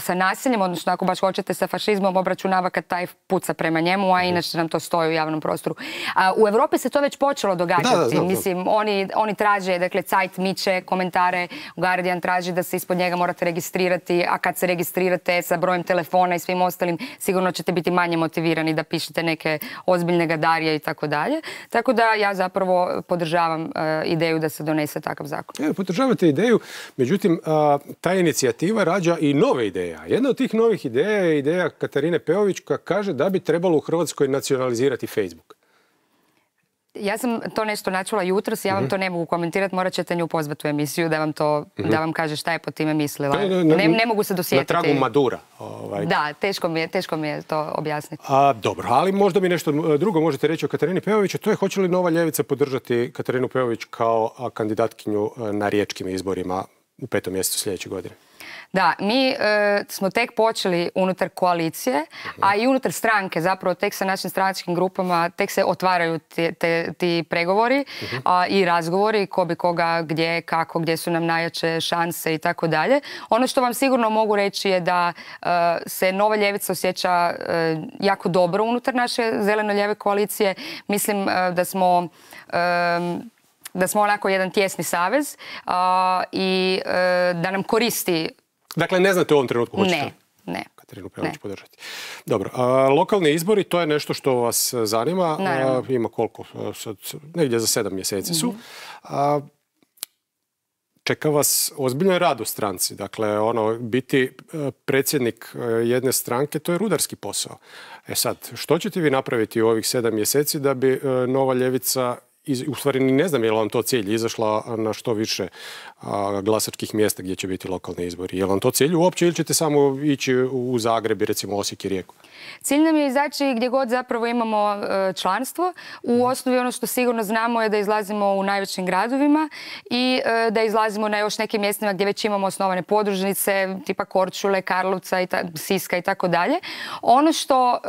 sa nasiljem, odnosno ako baš hoćete sa fašizmom, obračunava kad taj puca prema njemu, a inače nam to stoji u javnom prostoru. Uh, u Europi se to već počelo događati. Da, da, znam, Mislim, znam. Oni, oni traže, dakle, Zeit miče komentare, Guardian traži da se ispod njega morate registrirati, a kad se registrirate sa brojem telefona i svim ostalim, sigurno ćete biti manje motivirani da pišete neke ozbiljne gadarije i tako dalje. Tako da ja zapravo podržavam ideju da se donese takav zakon. Ja, podržavate ideju, međutim, ta inicijativa rađa i nove ideje. Jedna od tih novih ideja je ideja Katarine Peović koja kaže da bi trebalo u Hrvatskoj nacionalizirati Facebook. Ja sam to nešto načula jutros, ja vam mm-hmm. to ne mogu komentirati, morat ćete nju pozvati u emisiju da vam to, mm-hmm. da vam kaže šta je po time mislila. Na, na, ne, ne mogu se dosjetiti. Na tragu Madura. Ovaj. Da, teško mi, je, teško mi je to objasniti. A, dobro, ali možda mi nešto drugo možete reći o Katarini Peović, to je hoće li Nova ljevica podržati Katarinu Peović kao kandidatkinju na riječkim izborima u petom mjesecu sljedeće godine? Da, mi e, smo tek počeli unutar koalicije, a i unutar stranke, zapravo tek sa našim stranačkim grupama, tek se otvaraju te, te, ti pregovori uh-huh. a, i razgovori, ko bi koga, gdje, kako, gdje su nam najjače šanse i tako dalje. Ono što vam sigurno mogu reći je da e, se Nova ljevica osjeća e, jako dobro unutar naše zeleno-lijeve koalicije. Mislim e, da smo... E, da smo onako jedan tjesni savez a, i e, da nam koristi. Dakle, ne znate u ovom trenutku hoćete ne, ne. Katarinu Peović podržati. Dobro, a, lokalni izbori, to je nešto što vas zanima. A, ima koliko? Sad, negdje za sedam mjeseci su. Mm-hmm. A, čeka vas ozbiljan rad u stranci. Dakle, ono, biti predsjednik jedne stranke, to je rudarski posao. E sad, što ćete vi napraviti u ovih sedam mjeseci da bi Nova ljevica, u stvari ne znam je li vam to cilj, izašla na što više a, glasačkih mjesta gdje će biti lokalni izbori? Je li vam to cilj uopće ili ćete samo ići u Zagreb i recimo Osijek i Rijeku? Cilj nam je izaći gdje god zapravo imamo e, članstvo. U osnovi ono što sigurno znamo je da izlazimo u najvećim gradovima i e, da izlazimo na još nekim mjestima gdje već imamo osnovane podružnice, tipa Korčule, Karlovca, i ta, Siska i tako dalje. Ono što e,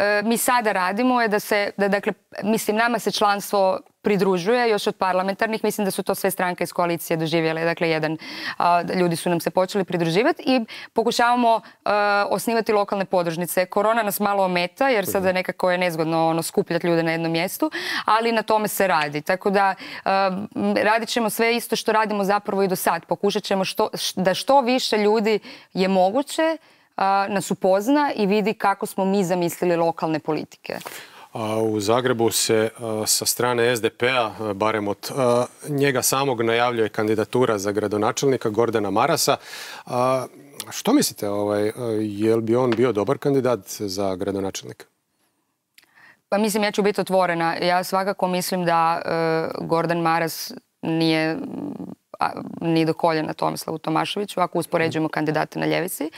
e, mi sada radimo je da se, da, dakle, mislim, nama se članstvo pridružuje još od parlamentarnih. Mislim da su to sve stranke iz koalicije doživjele. Dakle, jedan, a, ljudi su nam se počeli pridruživati i pokušavamo a, osnivati lokalne podružnice. Korona nas malo ometa jer sada nekako je nezgodno ono, skupljati ljude na jednom mjestu, ali na tome se radi. Tako da a, radit ćemo sve isto što radimo zapravo i do sad. Pokušat ćemo što, da što više ljudi je moguće a, nas upozna i vidi kako smo mi zamislili lokalne politike. U Zagrebu se sa strane es de pe-a, barem od njega samog, najavljuje kandidatura za gradonačelnika Gordana Marasa. Što mislite, ovaj, je li bi on bio dobar kandidat za gradonačelnika? Pa mislim, ja ću biti otvorena. Ja svakako mislim da uh, Gordan Maras nije ni do koljena Tomislavu Tomaševiću, ako uspoređujemo kandidate na ljevici.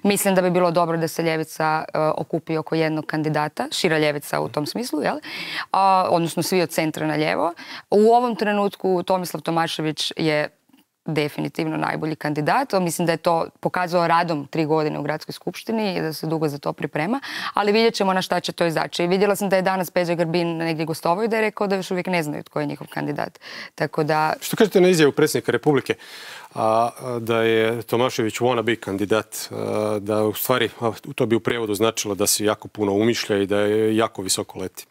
Mislim da bi bilo dobro da se ljevica uh, okupi oko jednog kandidata, šira ljevica u tom smislu, jel? Uh, odnosno svi od centra na ljevo. U ovom trenutku Tomislav Tomašević je definitivno najbolji kandidat. Mislim da je to pokazao radom tri godine u gradskoj skupštini i da se dugo za to priprema, ali vidjet ćemo na šta će to izaći. I vidjela sam da je danas Peđa Grbin negdje gostovao i da je rekao da još uvijek ne znaju tko je njihov kandidat. Tako da... Što kažete na izjavu predsjednika Republike, a, da je Tomašević wannabe kandidat, a, da u stvari, a, to bi u prijevodu značilo da se jako puno umišlja i da je jako visoko leti?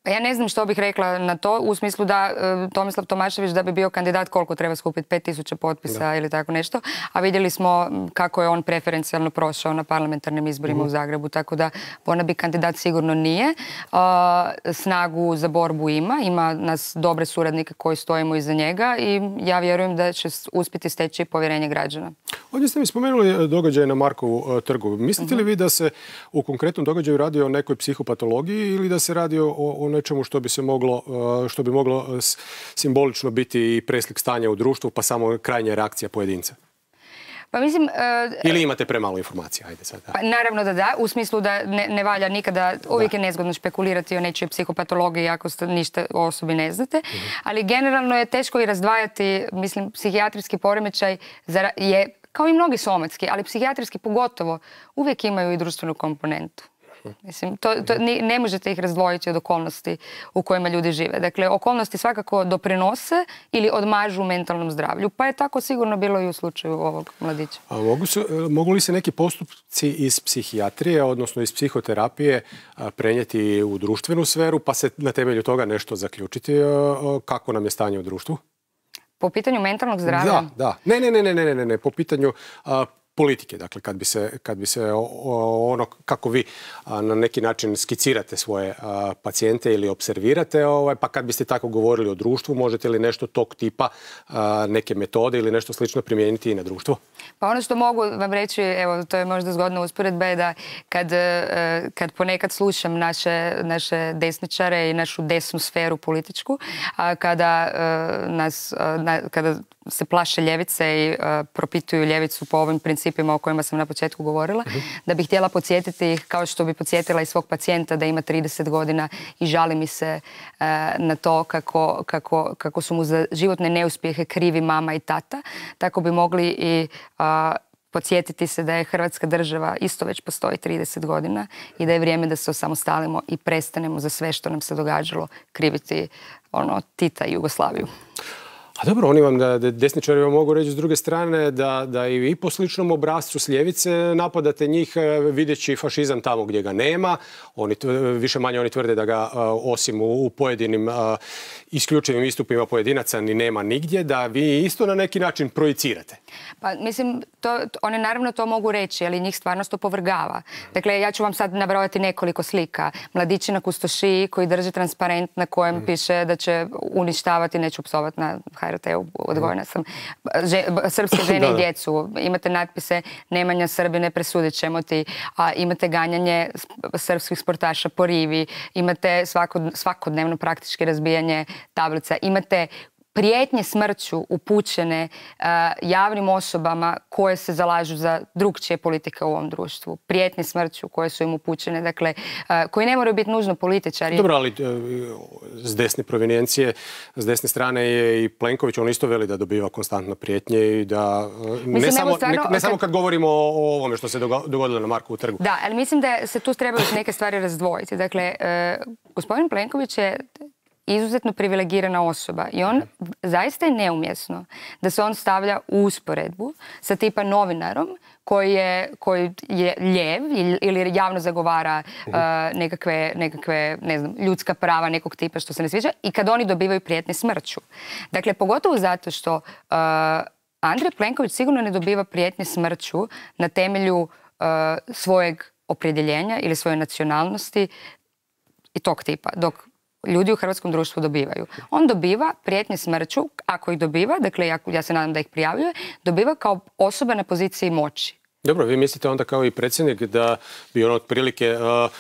Ja ne znam što bih rekla na to, u smislu da e, Tomislav Tomašević da bi bio kandidat koliko treba skupiti, pet tisuća potpisa da. ili tako nešto, a vidjeli smo kako je on preferencijalno prošao na parlamentarnim izborima mm. u Zagrebu, tako da ona bi kandidat sigurno nije. E, snagu za borbu ima, ima nas dobre suradnike koji stojimo iza njega i ja vjerujem da će uspjeti steći povjerenje građana. Ovdje ste mi spomenuli događaj na Markovu trgu. Mislite li vi da se u konkretnom događaju radi o nekoj psihopatologiji ili da se radi o, o nečemu što bi se moglo, što bi moglo simbolično biti i preslik stanja u društvu, pa samo krajnja reakcija pojedinca? Pa mislim... Uh, Ili imate premalo informacija? Ajde sad. Da. Pa, naravno da da, u smislu da ne, ne valja nikada, uvijek da. je nezgodno špekulirati o nečoj psihopatologiji ako ste ništa o osobi ne znate, uh-huh. ali generalno je teško i razdvajati, mislim, psihijatrijski poremećaj je, kao i mnogi somatski, ali psihijatrijski pogotovo, uvijek imaju i društvenu komponentu. Mislim, to, to, ne možete ih razdvojiti od okolnosti u kojima ljudi žive. Dakle, okolnosti svakako doprinose ili odmažu mentalnom zdravlju. Pa je tako sigurno bilo i u slučaju ovog mladića. A mogu, su, mogu li se neki postupci iz psihijatrije, odnosno iz psihoterapije, prenijeti u društvenu sferu, pa se na temelju toga nešto zaključiti kako nam je stanje u društvu? Po pitanju mentalnog zdravlja? Da, da. Ne, ne, ne, ne, ne, ne, ne. Po pitanju... A, politike, dakle, kad bi se, kad bi se ono, kako vi a, na neki način skicirate svoje a, pacijente ili observirate, ovaj, pa kad biste tako govorili o društvu, možete li nešto tog tipa, a, neke metode ili nešto slično primijeniti i na društvo? Pa ono što mogu vam reći, evo, to je možda zgodna usporedba, je da kad, kad ponekad slušam naše, naše desničare i našu desnu sferu političku, a kada nas, na, kada se plaše ljevice i uh, propituju ljevicu po ovim principima o kojima sam na početku govorila, uh-huh. da bih htjela podsjetiti ih kao što bi podsjetila i svog pacijenta da ima trideset godina i žali mi se uh, na to kako, kako, kako su mu za životne neuspjehe krivi mama i tata. Tako bi mogli i uh, podsjetiti se da je Hrvatska država isto već postoji trideset godina i da je vrijeme da se osamostalimo i prestanemo za sve što nam se događalo kriviti ono, Tita i Jugoslaviju. A dobro, oni vam, da, desničari vam mogu reći s druge strane da, da i vi po sličnom obrascu s ljevice napadate njih videći fašizam tamo gdje ga nema. Oni, više manje oni tvrde da ga osim u pojedinim isključivim istupima pojedinaca ni nema nigdje, da vi isto na neki način projicirate. Pa mislim, to, oni naravno to mogu reći, ali njih stvarnost opovrgava. Dakle, ja ću vam sad nabrojati nekoliko slika. Mladići na Kustošiji koji drže transparent na kojem mm. piše da će uništavati, neću psovati na ha er te-u, odgojena sam, že, srpske žene i djecu. Imate natpise Nemanja Srbine, presudit ćemo ti. A, imate ganjanje srpskih sportaša po rivi. Imate svakod, svakodnevno praktički razbijanje tablica. Imate prijetnje smrću upućene uh, javnim osobama koje se zalažu za drukčije politike u ovom društvu. Prijetnje smrću koje su im upućene, dakle, uh, koji ne moraju biti nužno političari. Dobro, ali uh, s desne provenijencije, s desne strane je i Plenković, on isto veli da dobiva konstantno prijetnje i da uh, ne, mislim, samo, stvarno, ne, ne samo kad govorimo o, o ovome što se dogodilo na Markovu trgu. Da, ali mislim da se tu trebaju neke stvari razdvojiti. Dakle, uh, gospodin Plenković je izuzetno privilegirana osoba i on zaista je neumjesno da se on stavlja u usporedbu sa tipa novinarom koji je, koji je ljev ili javno zagovara uh, nekakve, nekakve ne znam, ljudska prava nekog tipa što se ne sviđa i kad oni dobivaju prijetnje smrću. Dakle, pogotovo zato što uh, Andrej Plenković sigurno ne dobiva prijetnje smrću na temelju uh, svojeg opredjeljenja ili svoje nacionalnosti i tog tipa, dok ljudi u hrvatskom društvu dobivaju. On dobiva prijetnje smrću, ako ih dobiva, dakle ja, ja se nadam da ih prijavljuje, dobiva kao osoba na poziciji moći. Dobro, vi mislite onda kao i predsjednik da bi on otprilike uh,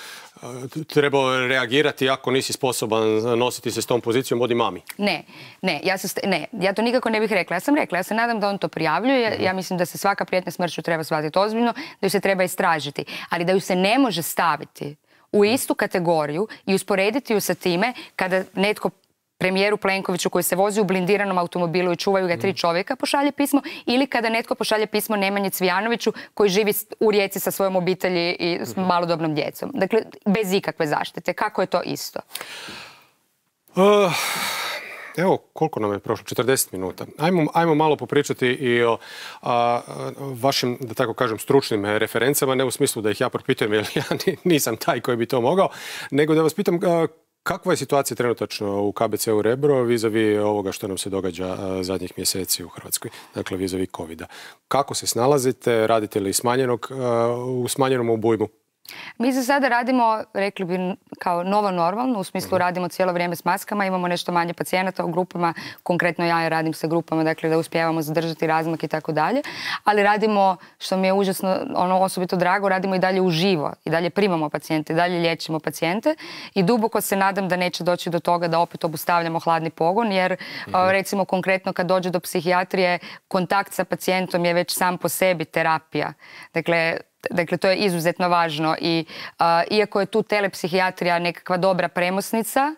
trebao reagirati ako nisi sposoban nositi se s tom pozicijom, odi mami? Ne, ne, ja, se, ne, ja to nikako ne bih rekla. Ja sam rekla, ja se nadam da on to prijavljuje. Mm-hmm. Ja mislim da se svaka prijetnja smrću treba shvatiti ozbiljno, da ju se treba istražiti, ali da ju se ne može staviti u istu kategoriju i usporediti ju sa time kada netko premijeru Plenkoviću koji se vozi u blindiranom automobilu i čuvaju ga tri čovjeka, pošalje pismo, ili kada netko pošalje pismo Nemanji Cvijanoviću koji živi u Rijeci sa svojom obitelji i s malodobnom djecom. Dakle, bez ikakve zaštite. Kako je to isto? Uh, evo, koliko nam je prošlo? četrdeset minuta. Ajmo, ajmo malo popričati i o a, vašim, da tako kažem, stručnim referencama, ne u smislu da ih ja propitujem jer ja nisam taj koji bi to mogao, nego da vas pitam a, kakva je situacija trenutačno u K B C-u Rebro vis-a-vis ovoga što nam se događa a, zadnjih mjeseci u Hrvatskoj, dakle vis-a-vis covida. Kako se snalazite? Radite li smanjenog, a, u smanjenom obujmu? Mi za sada radimo, rekli bi, kao novo normalno, u smislu radimo cijelo vrijeme s maskama, imamo nešto manje pacijenata u grupama, konkretno ja radim sa grupama, dakle da uspijevamo zadržati razmak i tako dalje, ali radimo, što mi je užasno, ono osobito drago, radimo i dalje uživo, i dalje primamo pacijente, i dalje liječimo pacijente i duboko se nadam da neće doći do toga da opet obustavljamo hladni pogon, jer recimo konkretno kad dođe do psihijatrije, kontakt sa pacijentom je već sam po sebi terapija. Dakle, Dakle, to je izuzetno važno i uh, iako je tu telepsihijatrija nekakva dobra premosnica,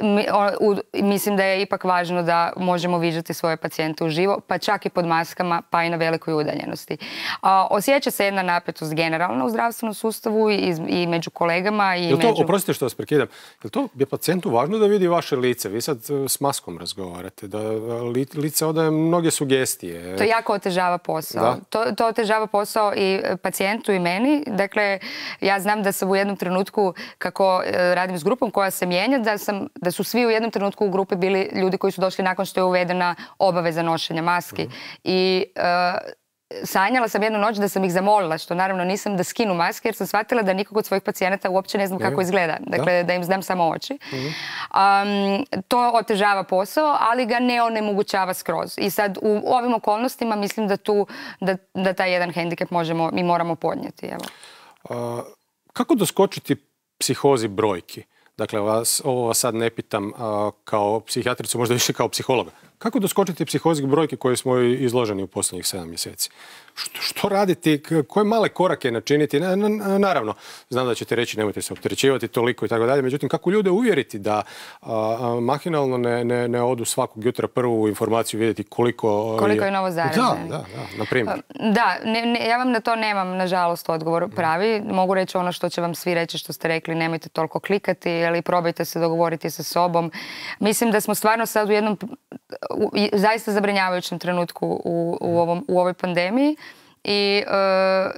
mi, o, u, mislim da je ipak važno da možemo viđati svoje pacijente uživo, pa čak i pod maskama, pa i na velikoj udaljenosti. Uh, osjeća se jedna napetost generalno u zdravstvenom sustavu i, i među kolegama. I Jel to, među... Oprostite što vas prekidam, je to je pacijentu važno da vidi vaše lice? Vi sad s maskom razgovarate, da li, lice odaje mnoge sugestije. To jako otežava posao. To, to otežava posao i pacijentu i meni. Dakle, ja znam da sam u jednom trenutku, kako radim s grupom koja se mijenja, da, sam, da su svi u jednom trenutku u grupi bili ljudi koji su došli nakon što je uvedena obaveza nošenja maski. Mm. I uh, sanjala sam jednu noć da sam ih zamolila, što naravno nisam, da skinu maske jer sam shvatila da nikog od svojih pacijenata uopće ne znam kako izgleda. Dakle, da, da im znam samo oči. Mm-hmm. um, to otežava posao, ali ga ne onemogućava skroz. I sad u ovim okolnostima mislim da tu, da, da taj jedan hendikep možemo, mi moramo podnijeti. Evo. Uh, kako doskočiti psihozi brojki? Dakle, vas, ovo vas sad ne pitam uh, kao psihijatricu, možda više kao psihologa. Kako doskočiti psihozi brojke koje smo izloženi u posljednjih sedam mjeseci? Što, što raditi? Koje male korake načiniti? Na, na, naravno, znam da ćete reći nemojte se opterećivati toliko i tako dalje. Međutim, kako ljude uvjeriti da a, mahinalno ne, ne, ne odu svakog jutra prvu informaciju vidjeti koliko... Koliko je novo zaraženih. Da, da, da, na primjer. Da, ne, ne, ja vam na to nemam, nažalost, odgovor pravi. Mogu reći ono što će vam svi reći što ste rekli, nemojte toliko klikati, ali probajte se dogovoriti sa sobom. Mislim da smo stvarno sad u jednom u, zaista zabrinjavajućem trenutku u, u, ovom, u ovoj pandemiji. I uh,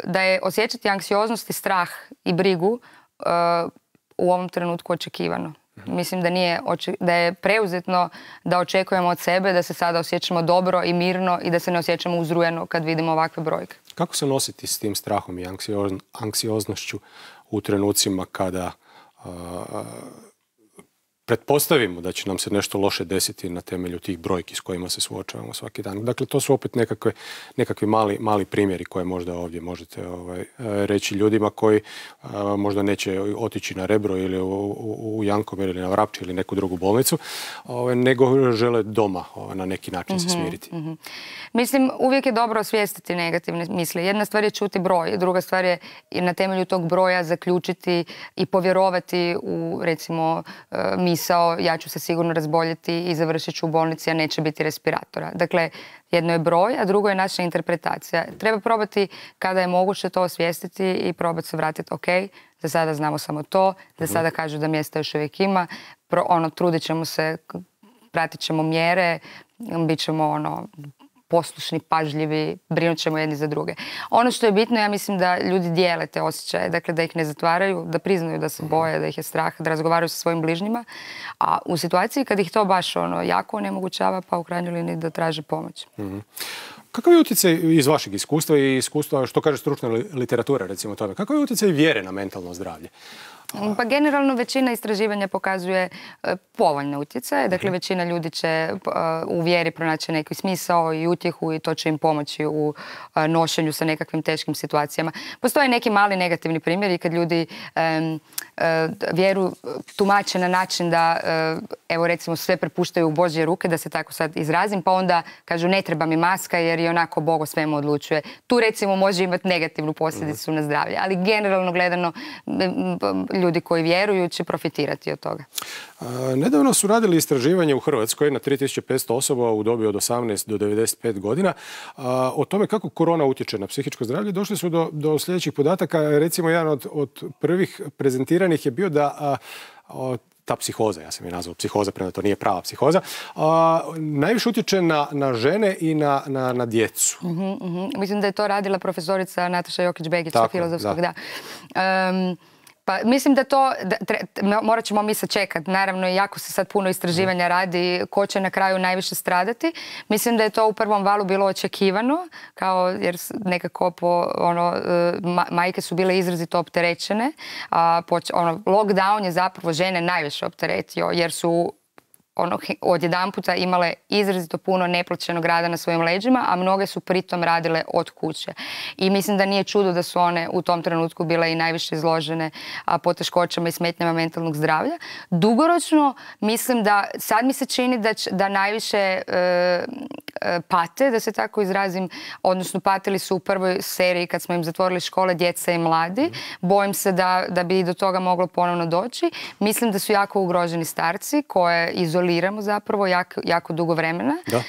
da je osjećati anksioznost i strah i brigu uh, u ovom trenutku očekivano. Mislim da, nije, da je preuzetno da očekujemo od sebe da se sada osjećamo dobro i mirno i da se ne osjećamo uzrujeno kad vidimo ovakve brojke. Kako se nositi s tim strahom i anksioznošću u trenucima kada uh, pretpostavimo da će nam se nešto loše desiti na temelju tih brojki s kojima se suočavamo svaki dan. Dakle, to su opet nekakve, nekakvi mali, mali primjeri koje možda ovdje možete ovaj, reći ljudima koji a, možda neće otići na Rebro ili u, u, u Jankomir ili na Vrapče ili neku drugu bolnicu, ovaj, nego žele doma ovaj, na neki način mm-hmm, se smiriti. Mm-hmm. Mislim, uvijek je dobro osvijestiti negativne misli. Jedna stvar je čuti broj, druga stvar je na temelju tog broja zaključiti i povjerovati u, recimo, misli ja ću se sigurno razboljeti i završit ću u bolnici, a neće biti respiratora. Dakle, jedno je broj, a drugo je naša interpretacija. Treba probati kada je moguće to osvijestiti i probati se vratiti, ok, za sada znamo samo to, za sada kažu da mjesta još uvijek ima, Pro, ono, trudit ćemo se, pratit ćemo mjere, bit ćemo ono, poslušni, pažljivi, brinut ćemo jedni za druge. Ono što je bitno, ja mislim da ljudi dijele te osjećaje, dakle da ih ne zatvaraju, da priznaju da se boje, da ih je strah, da razgovaraju sa svojim bližnjima, a u situaciji kad ih to baš ono, jako onemogućava, pa u krajnjoj liniji da traže pomoć. Mm-hmm. Kakav je utjecaj iz vašeg iskustva i iskustva, što kaže stručna literatura, recimo tome, kakav je utjecaj vjere na mentalno zdravlje? Pa generalno većina istraživanja pokazuje uh, povoljne utjecaje. Dakle, većina ljudi će uh, u vjeri pronaći neki smisao i utjehu i to će im pomoći u uh, nošenju sa nekakvim teškim situacijama. Postoje neki mali negativni primjeri kad ljudi um, uh, vjeru tumače na način da, uh, evo recimo, sve prepuštaju u Božje ruke, da se tako sad izrazim, pa onda kažu ne treba mi maska jer i onako Bog o svemu odlučuje. Tu recimo može imati negativnu posljedicu na zdravlje. Ali generalno gledano ljudi koji vjeruju će profitirati od toga. Nedavno su radili istraživanje u Hrvatskoj na tri tisuće petsto osoba u dobi od osamnaest do devedeset pet godina o tome kako korona utječe na psihičko zdravlje. Došli su do, do sljedećih podataka. Recimo, jedan od, od prvih prezentiranih je bio da a, a, ta psihoza, ja sam je nazvao psihoza, prema to nije prava psihoza, a, najviše utječe na, na žene i na, na, na djecu. Uh-huh, uh-huh. Mislim da je to radila profesorica Nataša Jokić-Begić sa filozofskog, da. da. Um, Pa mislim da to, da, tre, morat ćemo mi sačekati. Naravno, jako se sad puno istraživanja radi ko će na kraju najviše stradati. Mislim da je to u prvom valu bilo očekivano, kao jer nekako po, ono, ma, majke su bile izrazito opterećene. A, po, ono, lockdown je zapravo žene najviše opteretio jer su ono, odjedanputa imale izrazito puno neplaćenog rada na svojim leđima, a mnoge su pritom radile od kuće. I mislim da nije čudo da su one u tom trenutku bile i najviše izložene a, poteškoćama i smetnjama mentalnog zdravlja. Dugoročno mislim da, sad mi se čini da, č, da najviše e, e, pate, da se tako izrazim, odnosno patili su u prvoj seriji kad smo im zatvorili škole djeca i mladi. Bojim se da, da bi do toga moglo ponovno doći. Mislim da su jako ugroženi starci koje izoliramo zapravo jako, jako dugo vremena uh,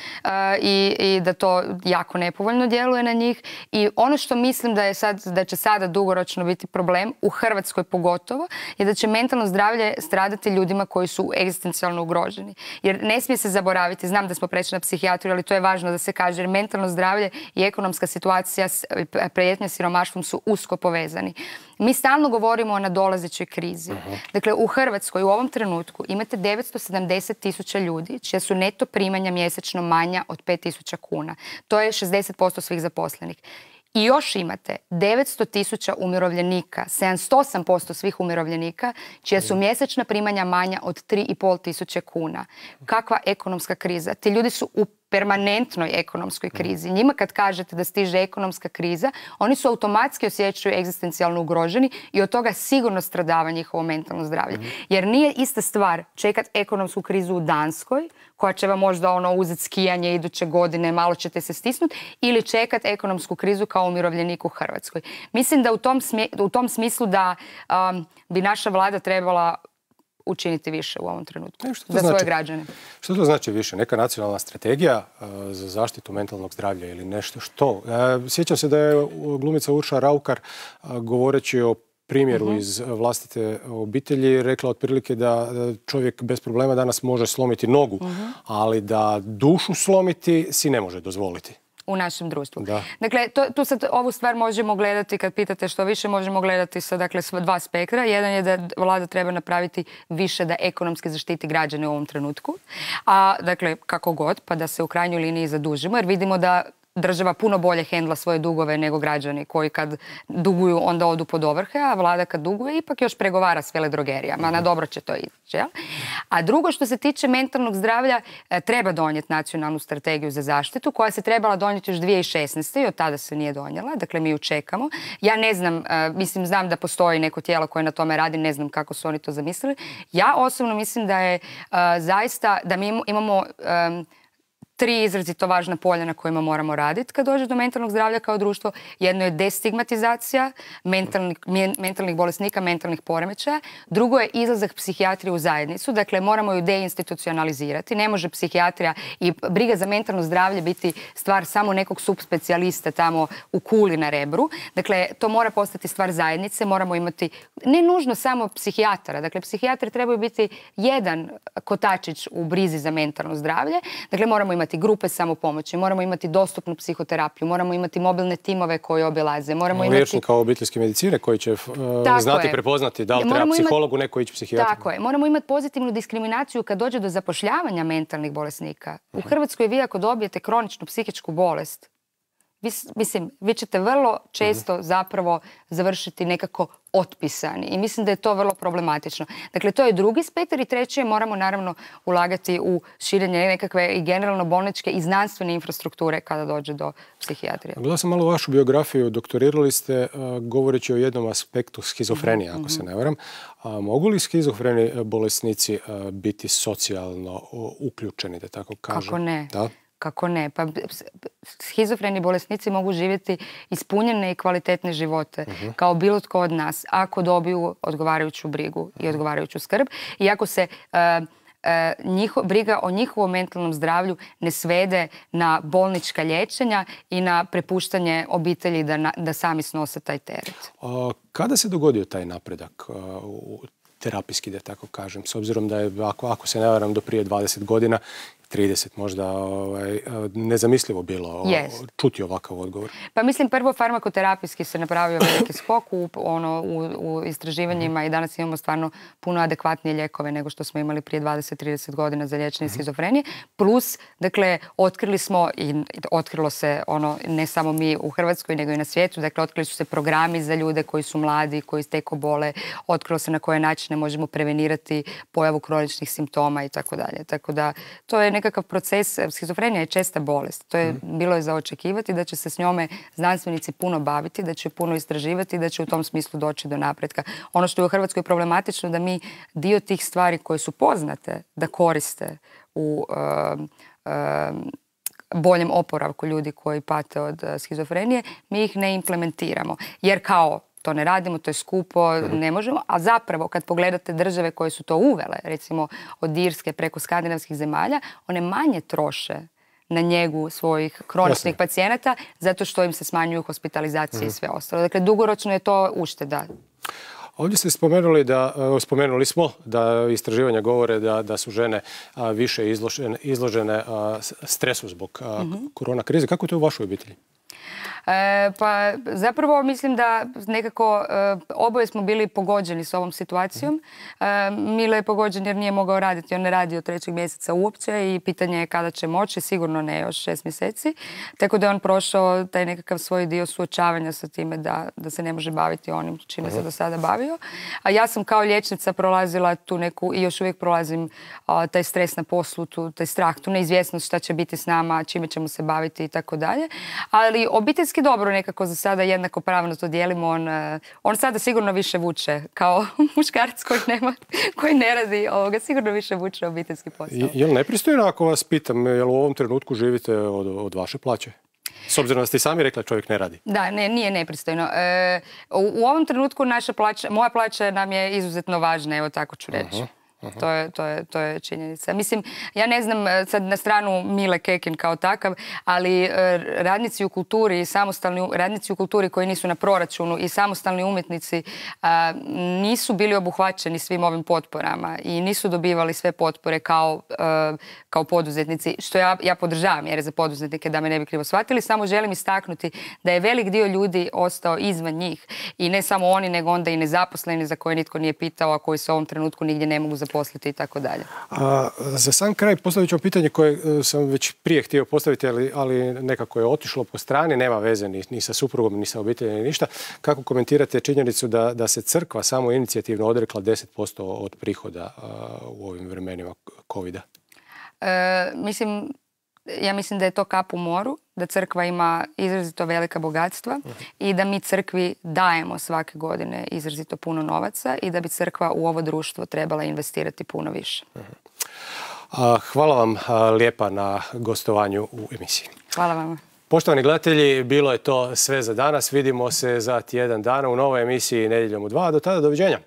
i, i da to jako nepovoljno djeluje na njih. I ono što mislim da, je sad, da će sada dugoročno biti problem, u Hrvatskoj pogotovo, je da će mentalno zdravlje stradati ljudima koji su egzistencijalno ugroženi. Jer ne smije se zaboraviti, znam da smo prešli na psihijatriju, ali to je važno da se kaže, jer mentalno zdravlje i ekonomska situacija, prijetnja siromaštvom su usko povezani. Mi stalno govorimo o nadolazećoj krizi. Uh-huh. Dakle, u Hrvatskoj u ovom trenutku imate devetsto sedamdeset tisuća ljudi čija su neto primanja mjesečno manja od pet tisuća kuna. To je šezdeset posto svih zaposlenih. I još imate devetsto tisuća umirovljenika, sedamdesijet osam posto svih umirovljenika, čija su mjesečna primanja manja od tri i pol tisuće kuna. Kakva ekonomska kriza? Ti ljudi su u permanentnoj ekonomskoj krizi. Njima kad kažete da stiže ekonomska kriza, oni su automatski osjećaju egzistencijalno ugroženi i od toga sigurno stradava njihovo mentalno zdravlje. Jer nije ista stvar čekati ekonomsku krizu u Danskoj, koja će vam možda ono uzeti skijanje iduće godine, malo ćete se stisnuti, ili čekati ekonomsku krizu kao umirovljenik u Hrvatskoj. Mislim da u tom, smje, u tom smislu da um, bi naša vlada trebala učiniti više u ovom trenutku e, za znači? svoje građane. Što to znači više? Neka nacionalna strategija uh, za zaštitu mentalnog zdravlja ili nešto što? Uh, sjećam se da je glumica Urša Raukar uh, govoreći o primjeru uh-huh. iz vlastite obitelji rekla otprilike da čovjek bez problema danas može slomiti nogu, uh-huh. ali da dušu slomiti si ne može dozvoliti. U našem društvu. Da. Dakle, to, tu sad ovu stvar možemo gledati, kad pitate što više, možemo gledati sa dakle, dva spektra. Jedan je da vlada treba napraviti više da ekonomski zaštiti građane u ovom trenutku. A, dakle, kako god, pa da se u krajnjoj liniji zadužimo, jer vidimo da država puno bolje hendla svoje dugove nego građani koji kad duguju onda odu pod ovrhe, a vlada kad duguje ipak još pregovara s veledrogerijama. Na dobro će to ići. Ja? A drugo, što se tiče mentalnog zdravlja, treba donijeti nacionalnu strategiju za zaštitu koja se trebala donijeti još dvije tisuće šesnaeste. i od tada se nije donijela. Dakle, mi ju čekamo. Ja ne znam, mislim, znam da postoji neko tijelo koje na tome radi, ne znam kako su oni to zamislili. Ja osobno mislim da je uh, zaista, da mi imamo um, tri izrazito važna polja na kojima moramo raditi kad dođe do mentalnog zdravlja kao društvo. Jedno je destigmatizacija mentalnih, mentalnih bolesnika, mentalnih poremećaja. Drugo je izlazak psihijatrije u zajednicu. Dakle, moramo ju deinstitucionalizirati. Ne može psihijatrija i briga za mentalno zdravlje biti stvar samo nekog subspecijalista tamo u Kuli na Rebru. Dakle, to mora postati stvar zajednice. Moramo imati ne nužno samo psihijatara. Dakle, psihijatri trebaju biti jedan kotačić u brizi za mentalno zdravlje. Dakle, moramo imati grupe samopomoći, moramo imati dostupnu psihoterapiju, moramo imati mobilne timove koji obilaze, moramo imati... Liječnika obiteljske medicine koji će uh, znati je. prepoznati da li treba psihologu, imati... neko ići psihijatru. Tako je. Moramo imati pozitivnu diskriminaciju kad dođe do zapošljavanja mentalnih bolesnika. U Hrvatskoj vi ako dobijete kroničnu psihičku bolest, vi, mislim, vi ćete vrlo često uh-huh. zapravo završiti nekako otpisani i mislim da je to vrlo problematično. Dakle, to je drugi spektar i treće, moramo naravno ulagati u širenje nekakve i generalno bolničke i znanstvene infrastrukture kada dođe do psihijatrije. Gledala sam malo vašu biografiju, doktorirali ste uh, govoreći o jednom aspektu schizofrenije, ako mm-hmm. se ne varam. A mogu li schizofreni bolesnici uh, biti socijalno uh, uključeni, da tako kažem? Kako ne? Da? Kako ne? Pa schizofreni bolesnici mogu živjeti ispunjene i kvalitetne živote uh-huh. kao bilo tko od nas ako dobiju odgovarajuću brigu i odgovarajuću skrb i ako se uh, uh, njiho, briga o njihovom mentalnom zdravlju ne svede na bolnička liječenja i na prepuštanje obitelji da, na, da sami snose taj teret. A, kada se dogodio taj napredak uh, u terapijski, da tako kažem, s obzirom da je, ako, ako se ne varam, do prije dvadeset godina, trideset možda ovaj, nezamislivo bilo yes. čuti ovakav odgovor? Pa mislim, prvo farmakoterapijski se napravio veliki skok u, ono, u, u istraživanjima mm-hmm. i danas imamo stvarno puno adekvatnije lijekove nego što smo imali prije dvadeset do trideset godina za liječenje mm-hmm. schizofrenije. Plus, dakle, otkrili smo i otkrilo se ono, ne samo mi u Hrvatskoj nego i na svijetu, dakle, otkrili su se programi za ljude koji su mladi, koji teko bole, otkrilo se na koje načine možemo prevenirati pojavu kroničnih simptoma i tako dalje. Tako da, to je nekakav proces. Schizofrenija je česta bolest. To je mm. bilo je za očekivati da će se s njome znanstvenici puno baviti, da će puno istraživati i da će u tom smislu doći do napretka. Ono što je u Hrvatskoj problematično da mi dio tih stvari koje su poznate da koriste u uh, uh, boljem oporavku ljudi koji pate od uh, schizofrenije, mi ih ne implementiramo. Jer kao to ne radimo, to je skupo, ne možemo. A zapravo, kad pogledate države koje su to uvele, recimo od Irske preko skandinavskih zemalja, one manje troše na njegu svojih kroničnih pacijenata zato što im se smanjuju hospitalizacije mm. i sve ostalo. Dakle, dugoročno je to ušteda. Ovdje ste spomenuli da, spomenuli smo da istraživanja govore da, da su žene a, više izložene, izložene a, stresu zbog a, mm-hmm. korona krize. Kako je to u vašoj obitelji? E, pa zapravo mislim da nekako e, oboje smo bili pogođeni s ovom situacijom. E, Mile je pogođen jer nije mogao raditi. On ne radi od trećeg mjeseca uopće i pitanje je kada će moći, sigurno ne još šest mjeseci. Tako da je on prošao taj nekakav svoj dio suočavanja sa time da, da se ne može baviti onim čime uh-huh. se do sada bavio. A ja sam kao liječnica prolazila tu neku, i još uvijek prolazim a, taj stres na poslu, tu, taj strah, tu neizvjesnost šta će biti s nama, čime ćemo se baviti i tako dalje. Ali obiteljski dobro nekako za sada jednako pravno to dijelimo. On, on sada sigurno više vuče kao muškarac koji, nema, koji ne radi ovoga, sigurno više vuče obiteljski posao. Je li nepristojno ako vas pitam, je li u ovom trenutku živite od, od vaše plaće? S obzirom da ste i sami rekli da čovjek ne radi. Da, ne, nije nepristojno. E, u, u ovom trenutku naša plaća, moja plaća nam je izuzetno važna, evo tako ću reći. Uh-huh. To je, to, je, to je činjenica. Mislim, ja ne znam sad na stranu Mile Kekin kao takav, ali radnici u kulturi i samostalni radnici u kulturi koji nisu na proračunu i samostalni umjetnici a, nisu bili obuhvaćeni svim ovim potporama i nisu dobivali sve potpore kao, a, kao poduzetnici, što ja, ja podržavam jer je za poduzetnike, da me ne bi krivo shvatili. Samo želim istaknuti da je velik dio ljudi ostao izvan njih i ne samo oni, nego onda i nezaposleni za koje nitko nije pitao, a koji se u ovom trenutku nigdje ne mogu zaposliti posliti i tako dalje. Za sam kraj postavit ću pitanje koje sam već prije htio postaviti, ali, ali nekako je otišlo po strani, nema veze ni, ni sa suprugom, ni sa obiteljem, ni ništa. Kako komentirate činjenicu da, da se crkva samo inicijativno odrekla deset posto od prihoda uh, u ovim vremenima kovida? E, mislim, ja mislim da je to kap u moru, da crkva ima izrazito velika bogatstva uh-huh. i da mi crkvi dajemo svake godine izrazito puno novaca i da bi crkva u ovo društvo trebala investirati puno više. Uh-huh. Hvala vam lijepa na gostovanju u emisiji. Hvala vam. Poštovani gledatelji, bilo je to sve za danas. Vidimo se za tjedan dana u novoj emisiji Nedjeljom u dva. Do tada, doviđenja.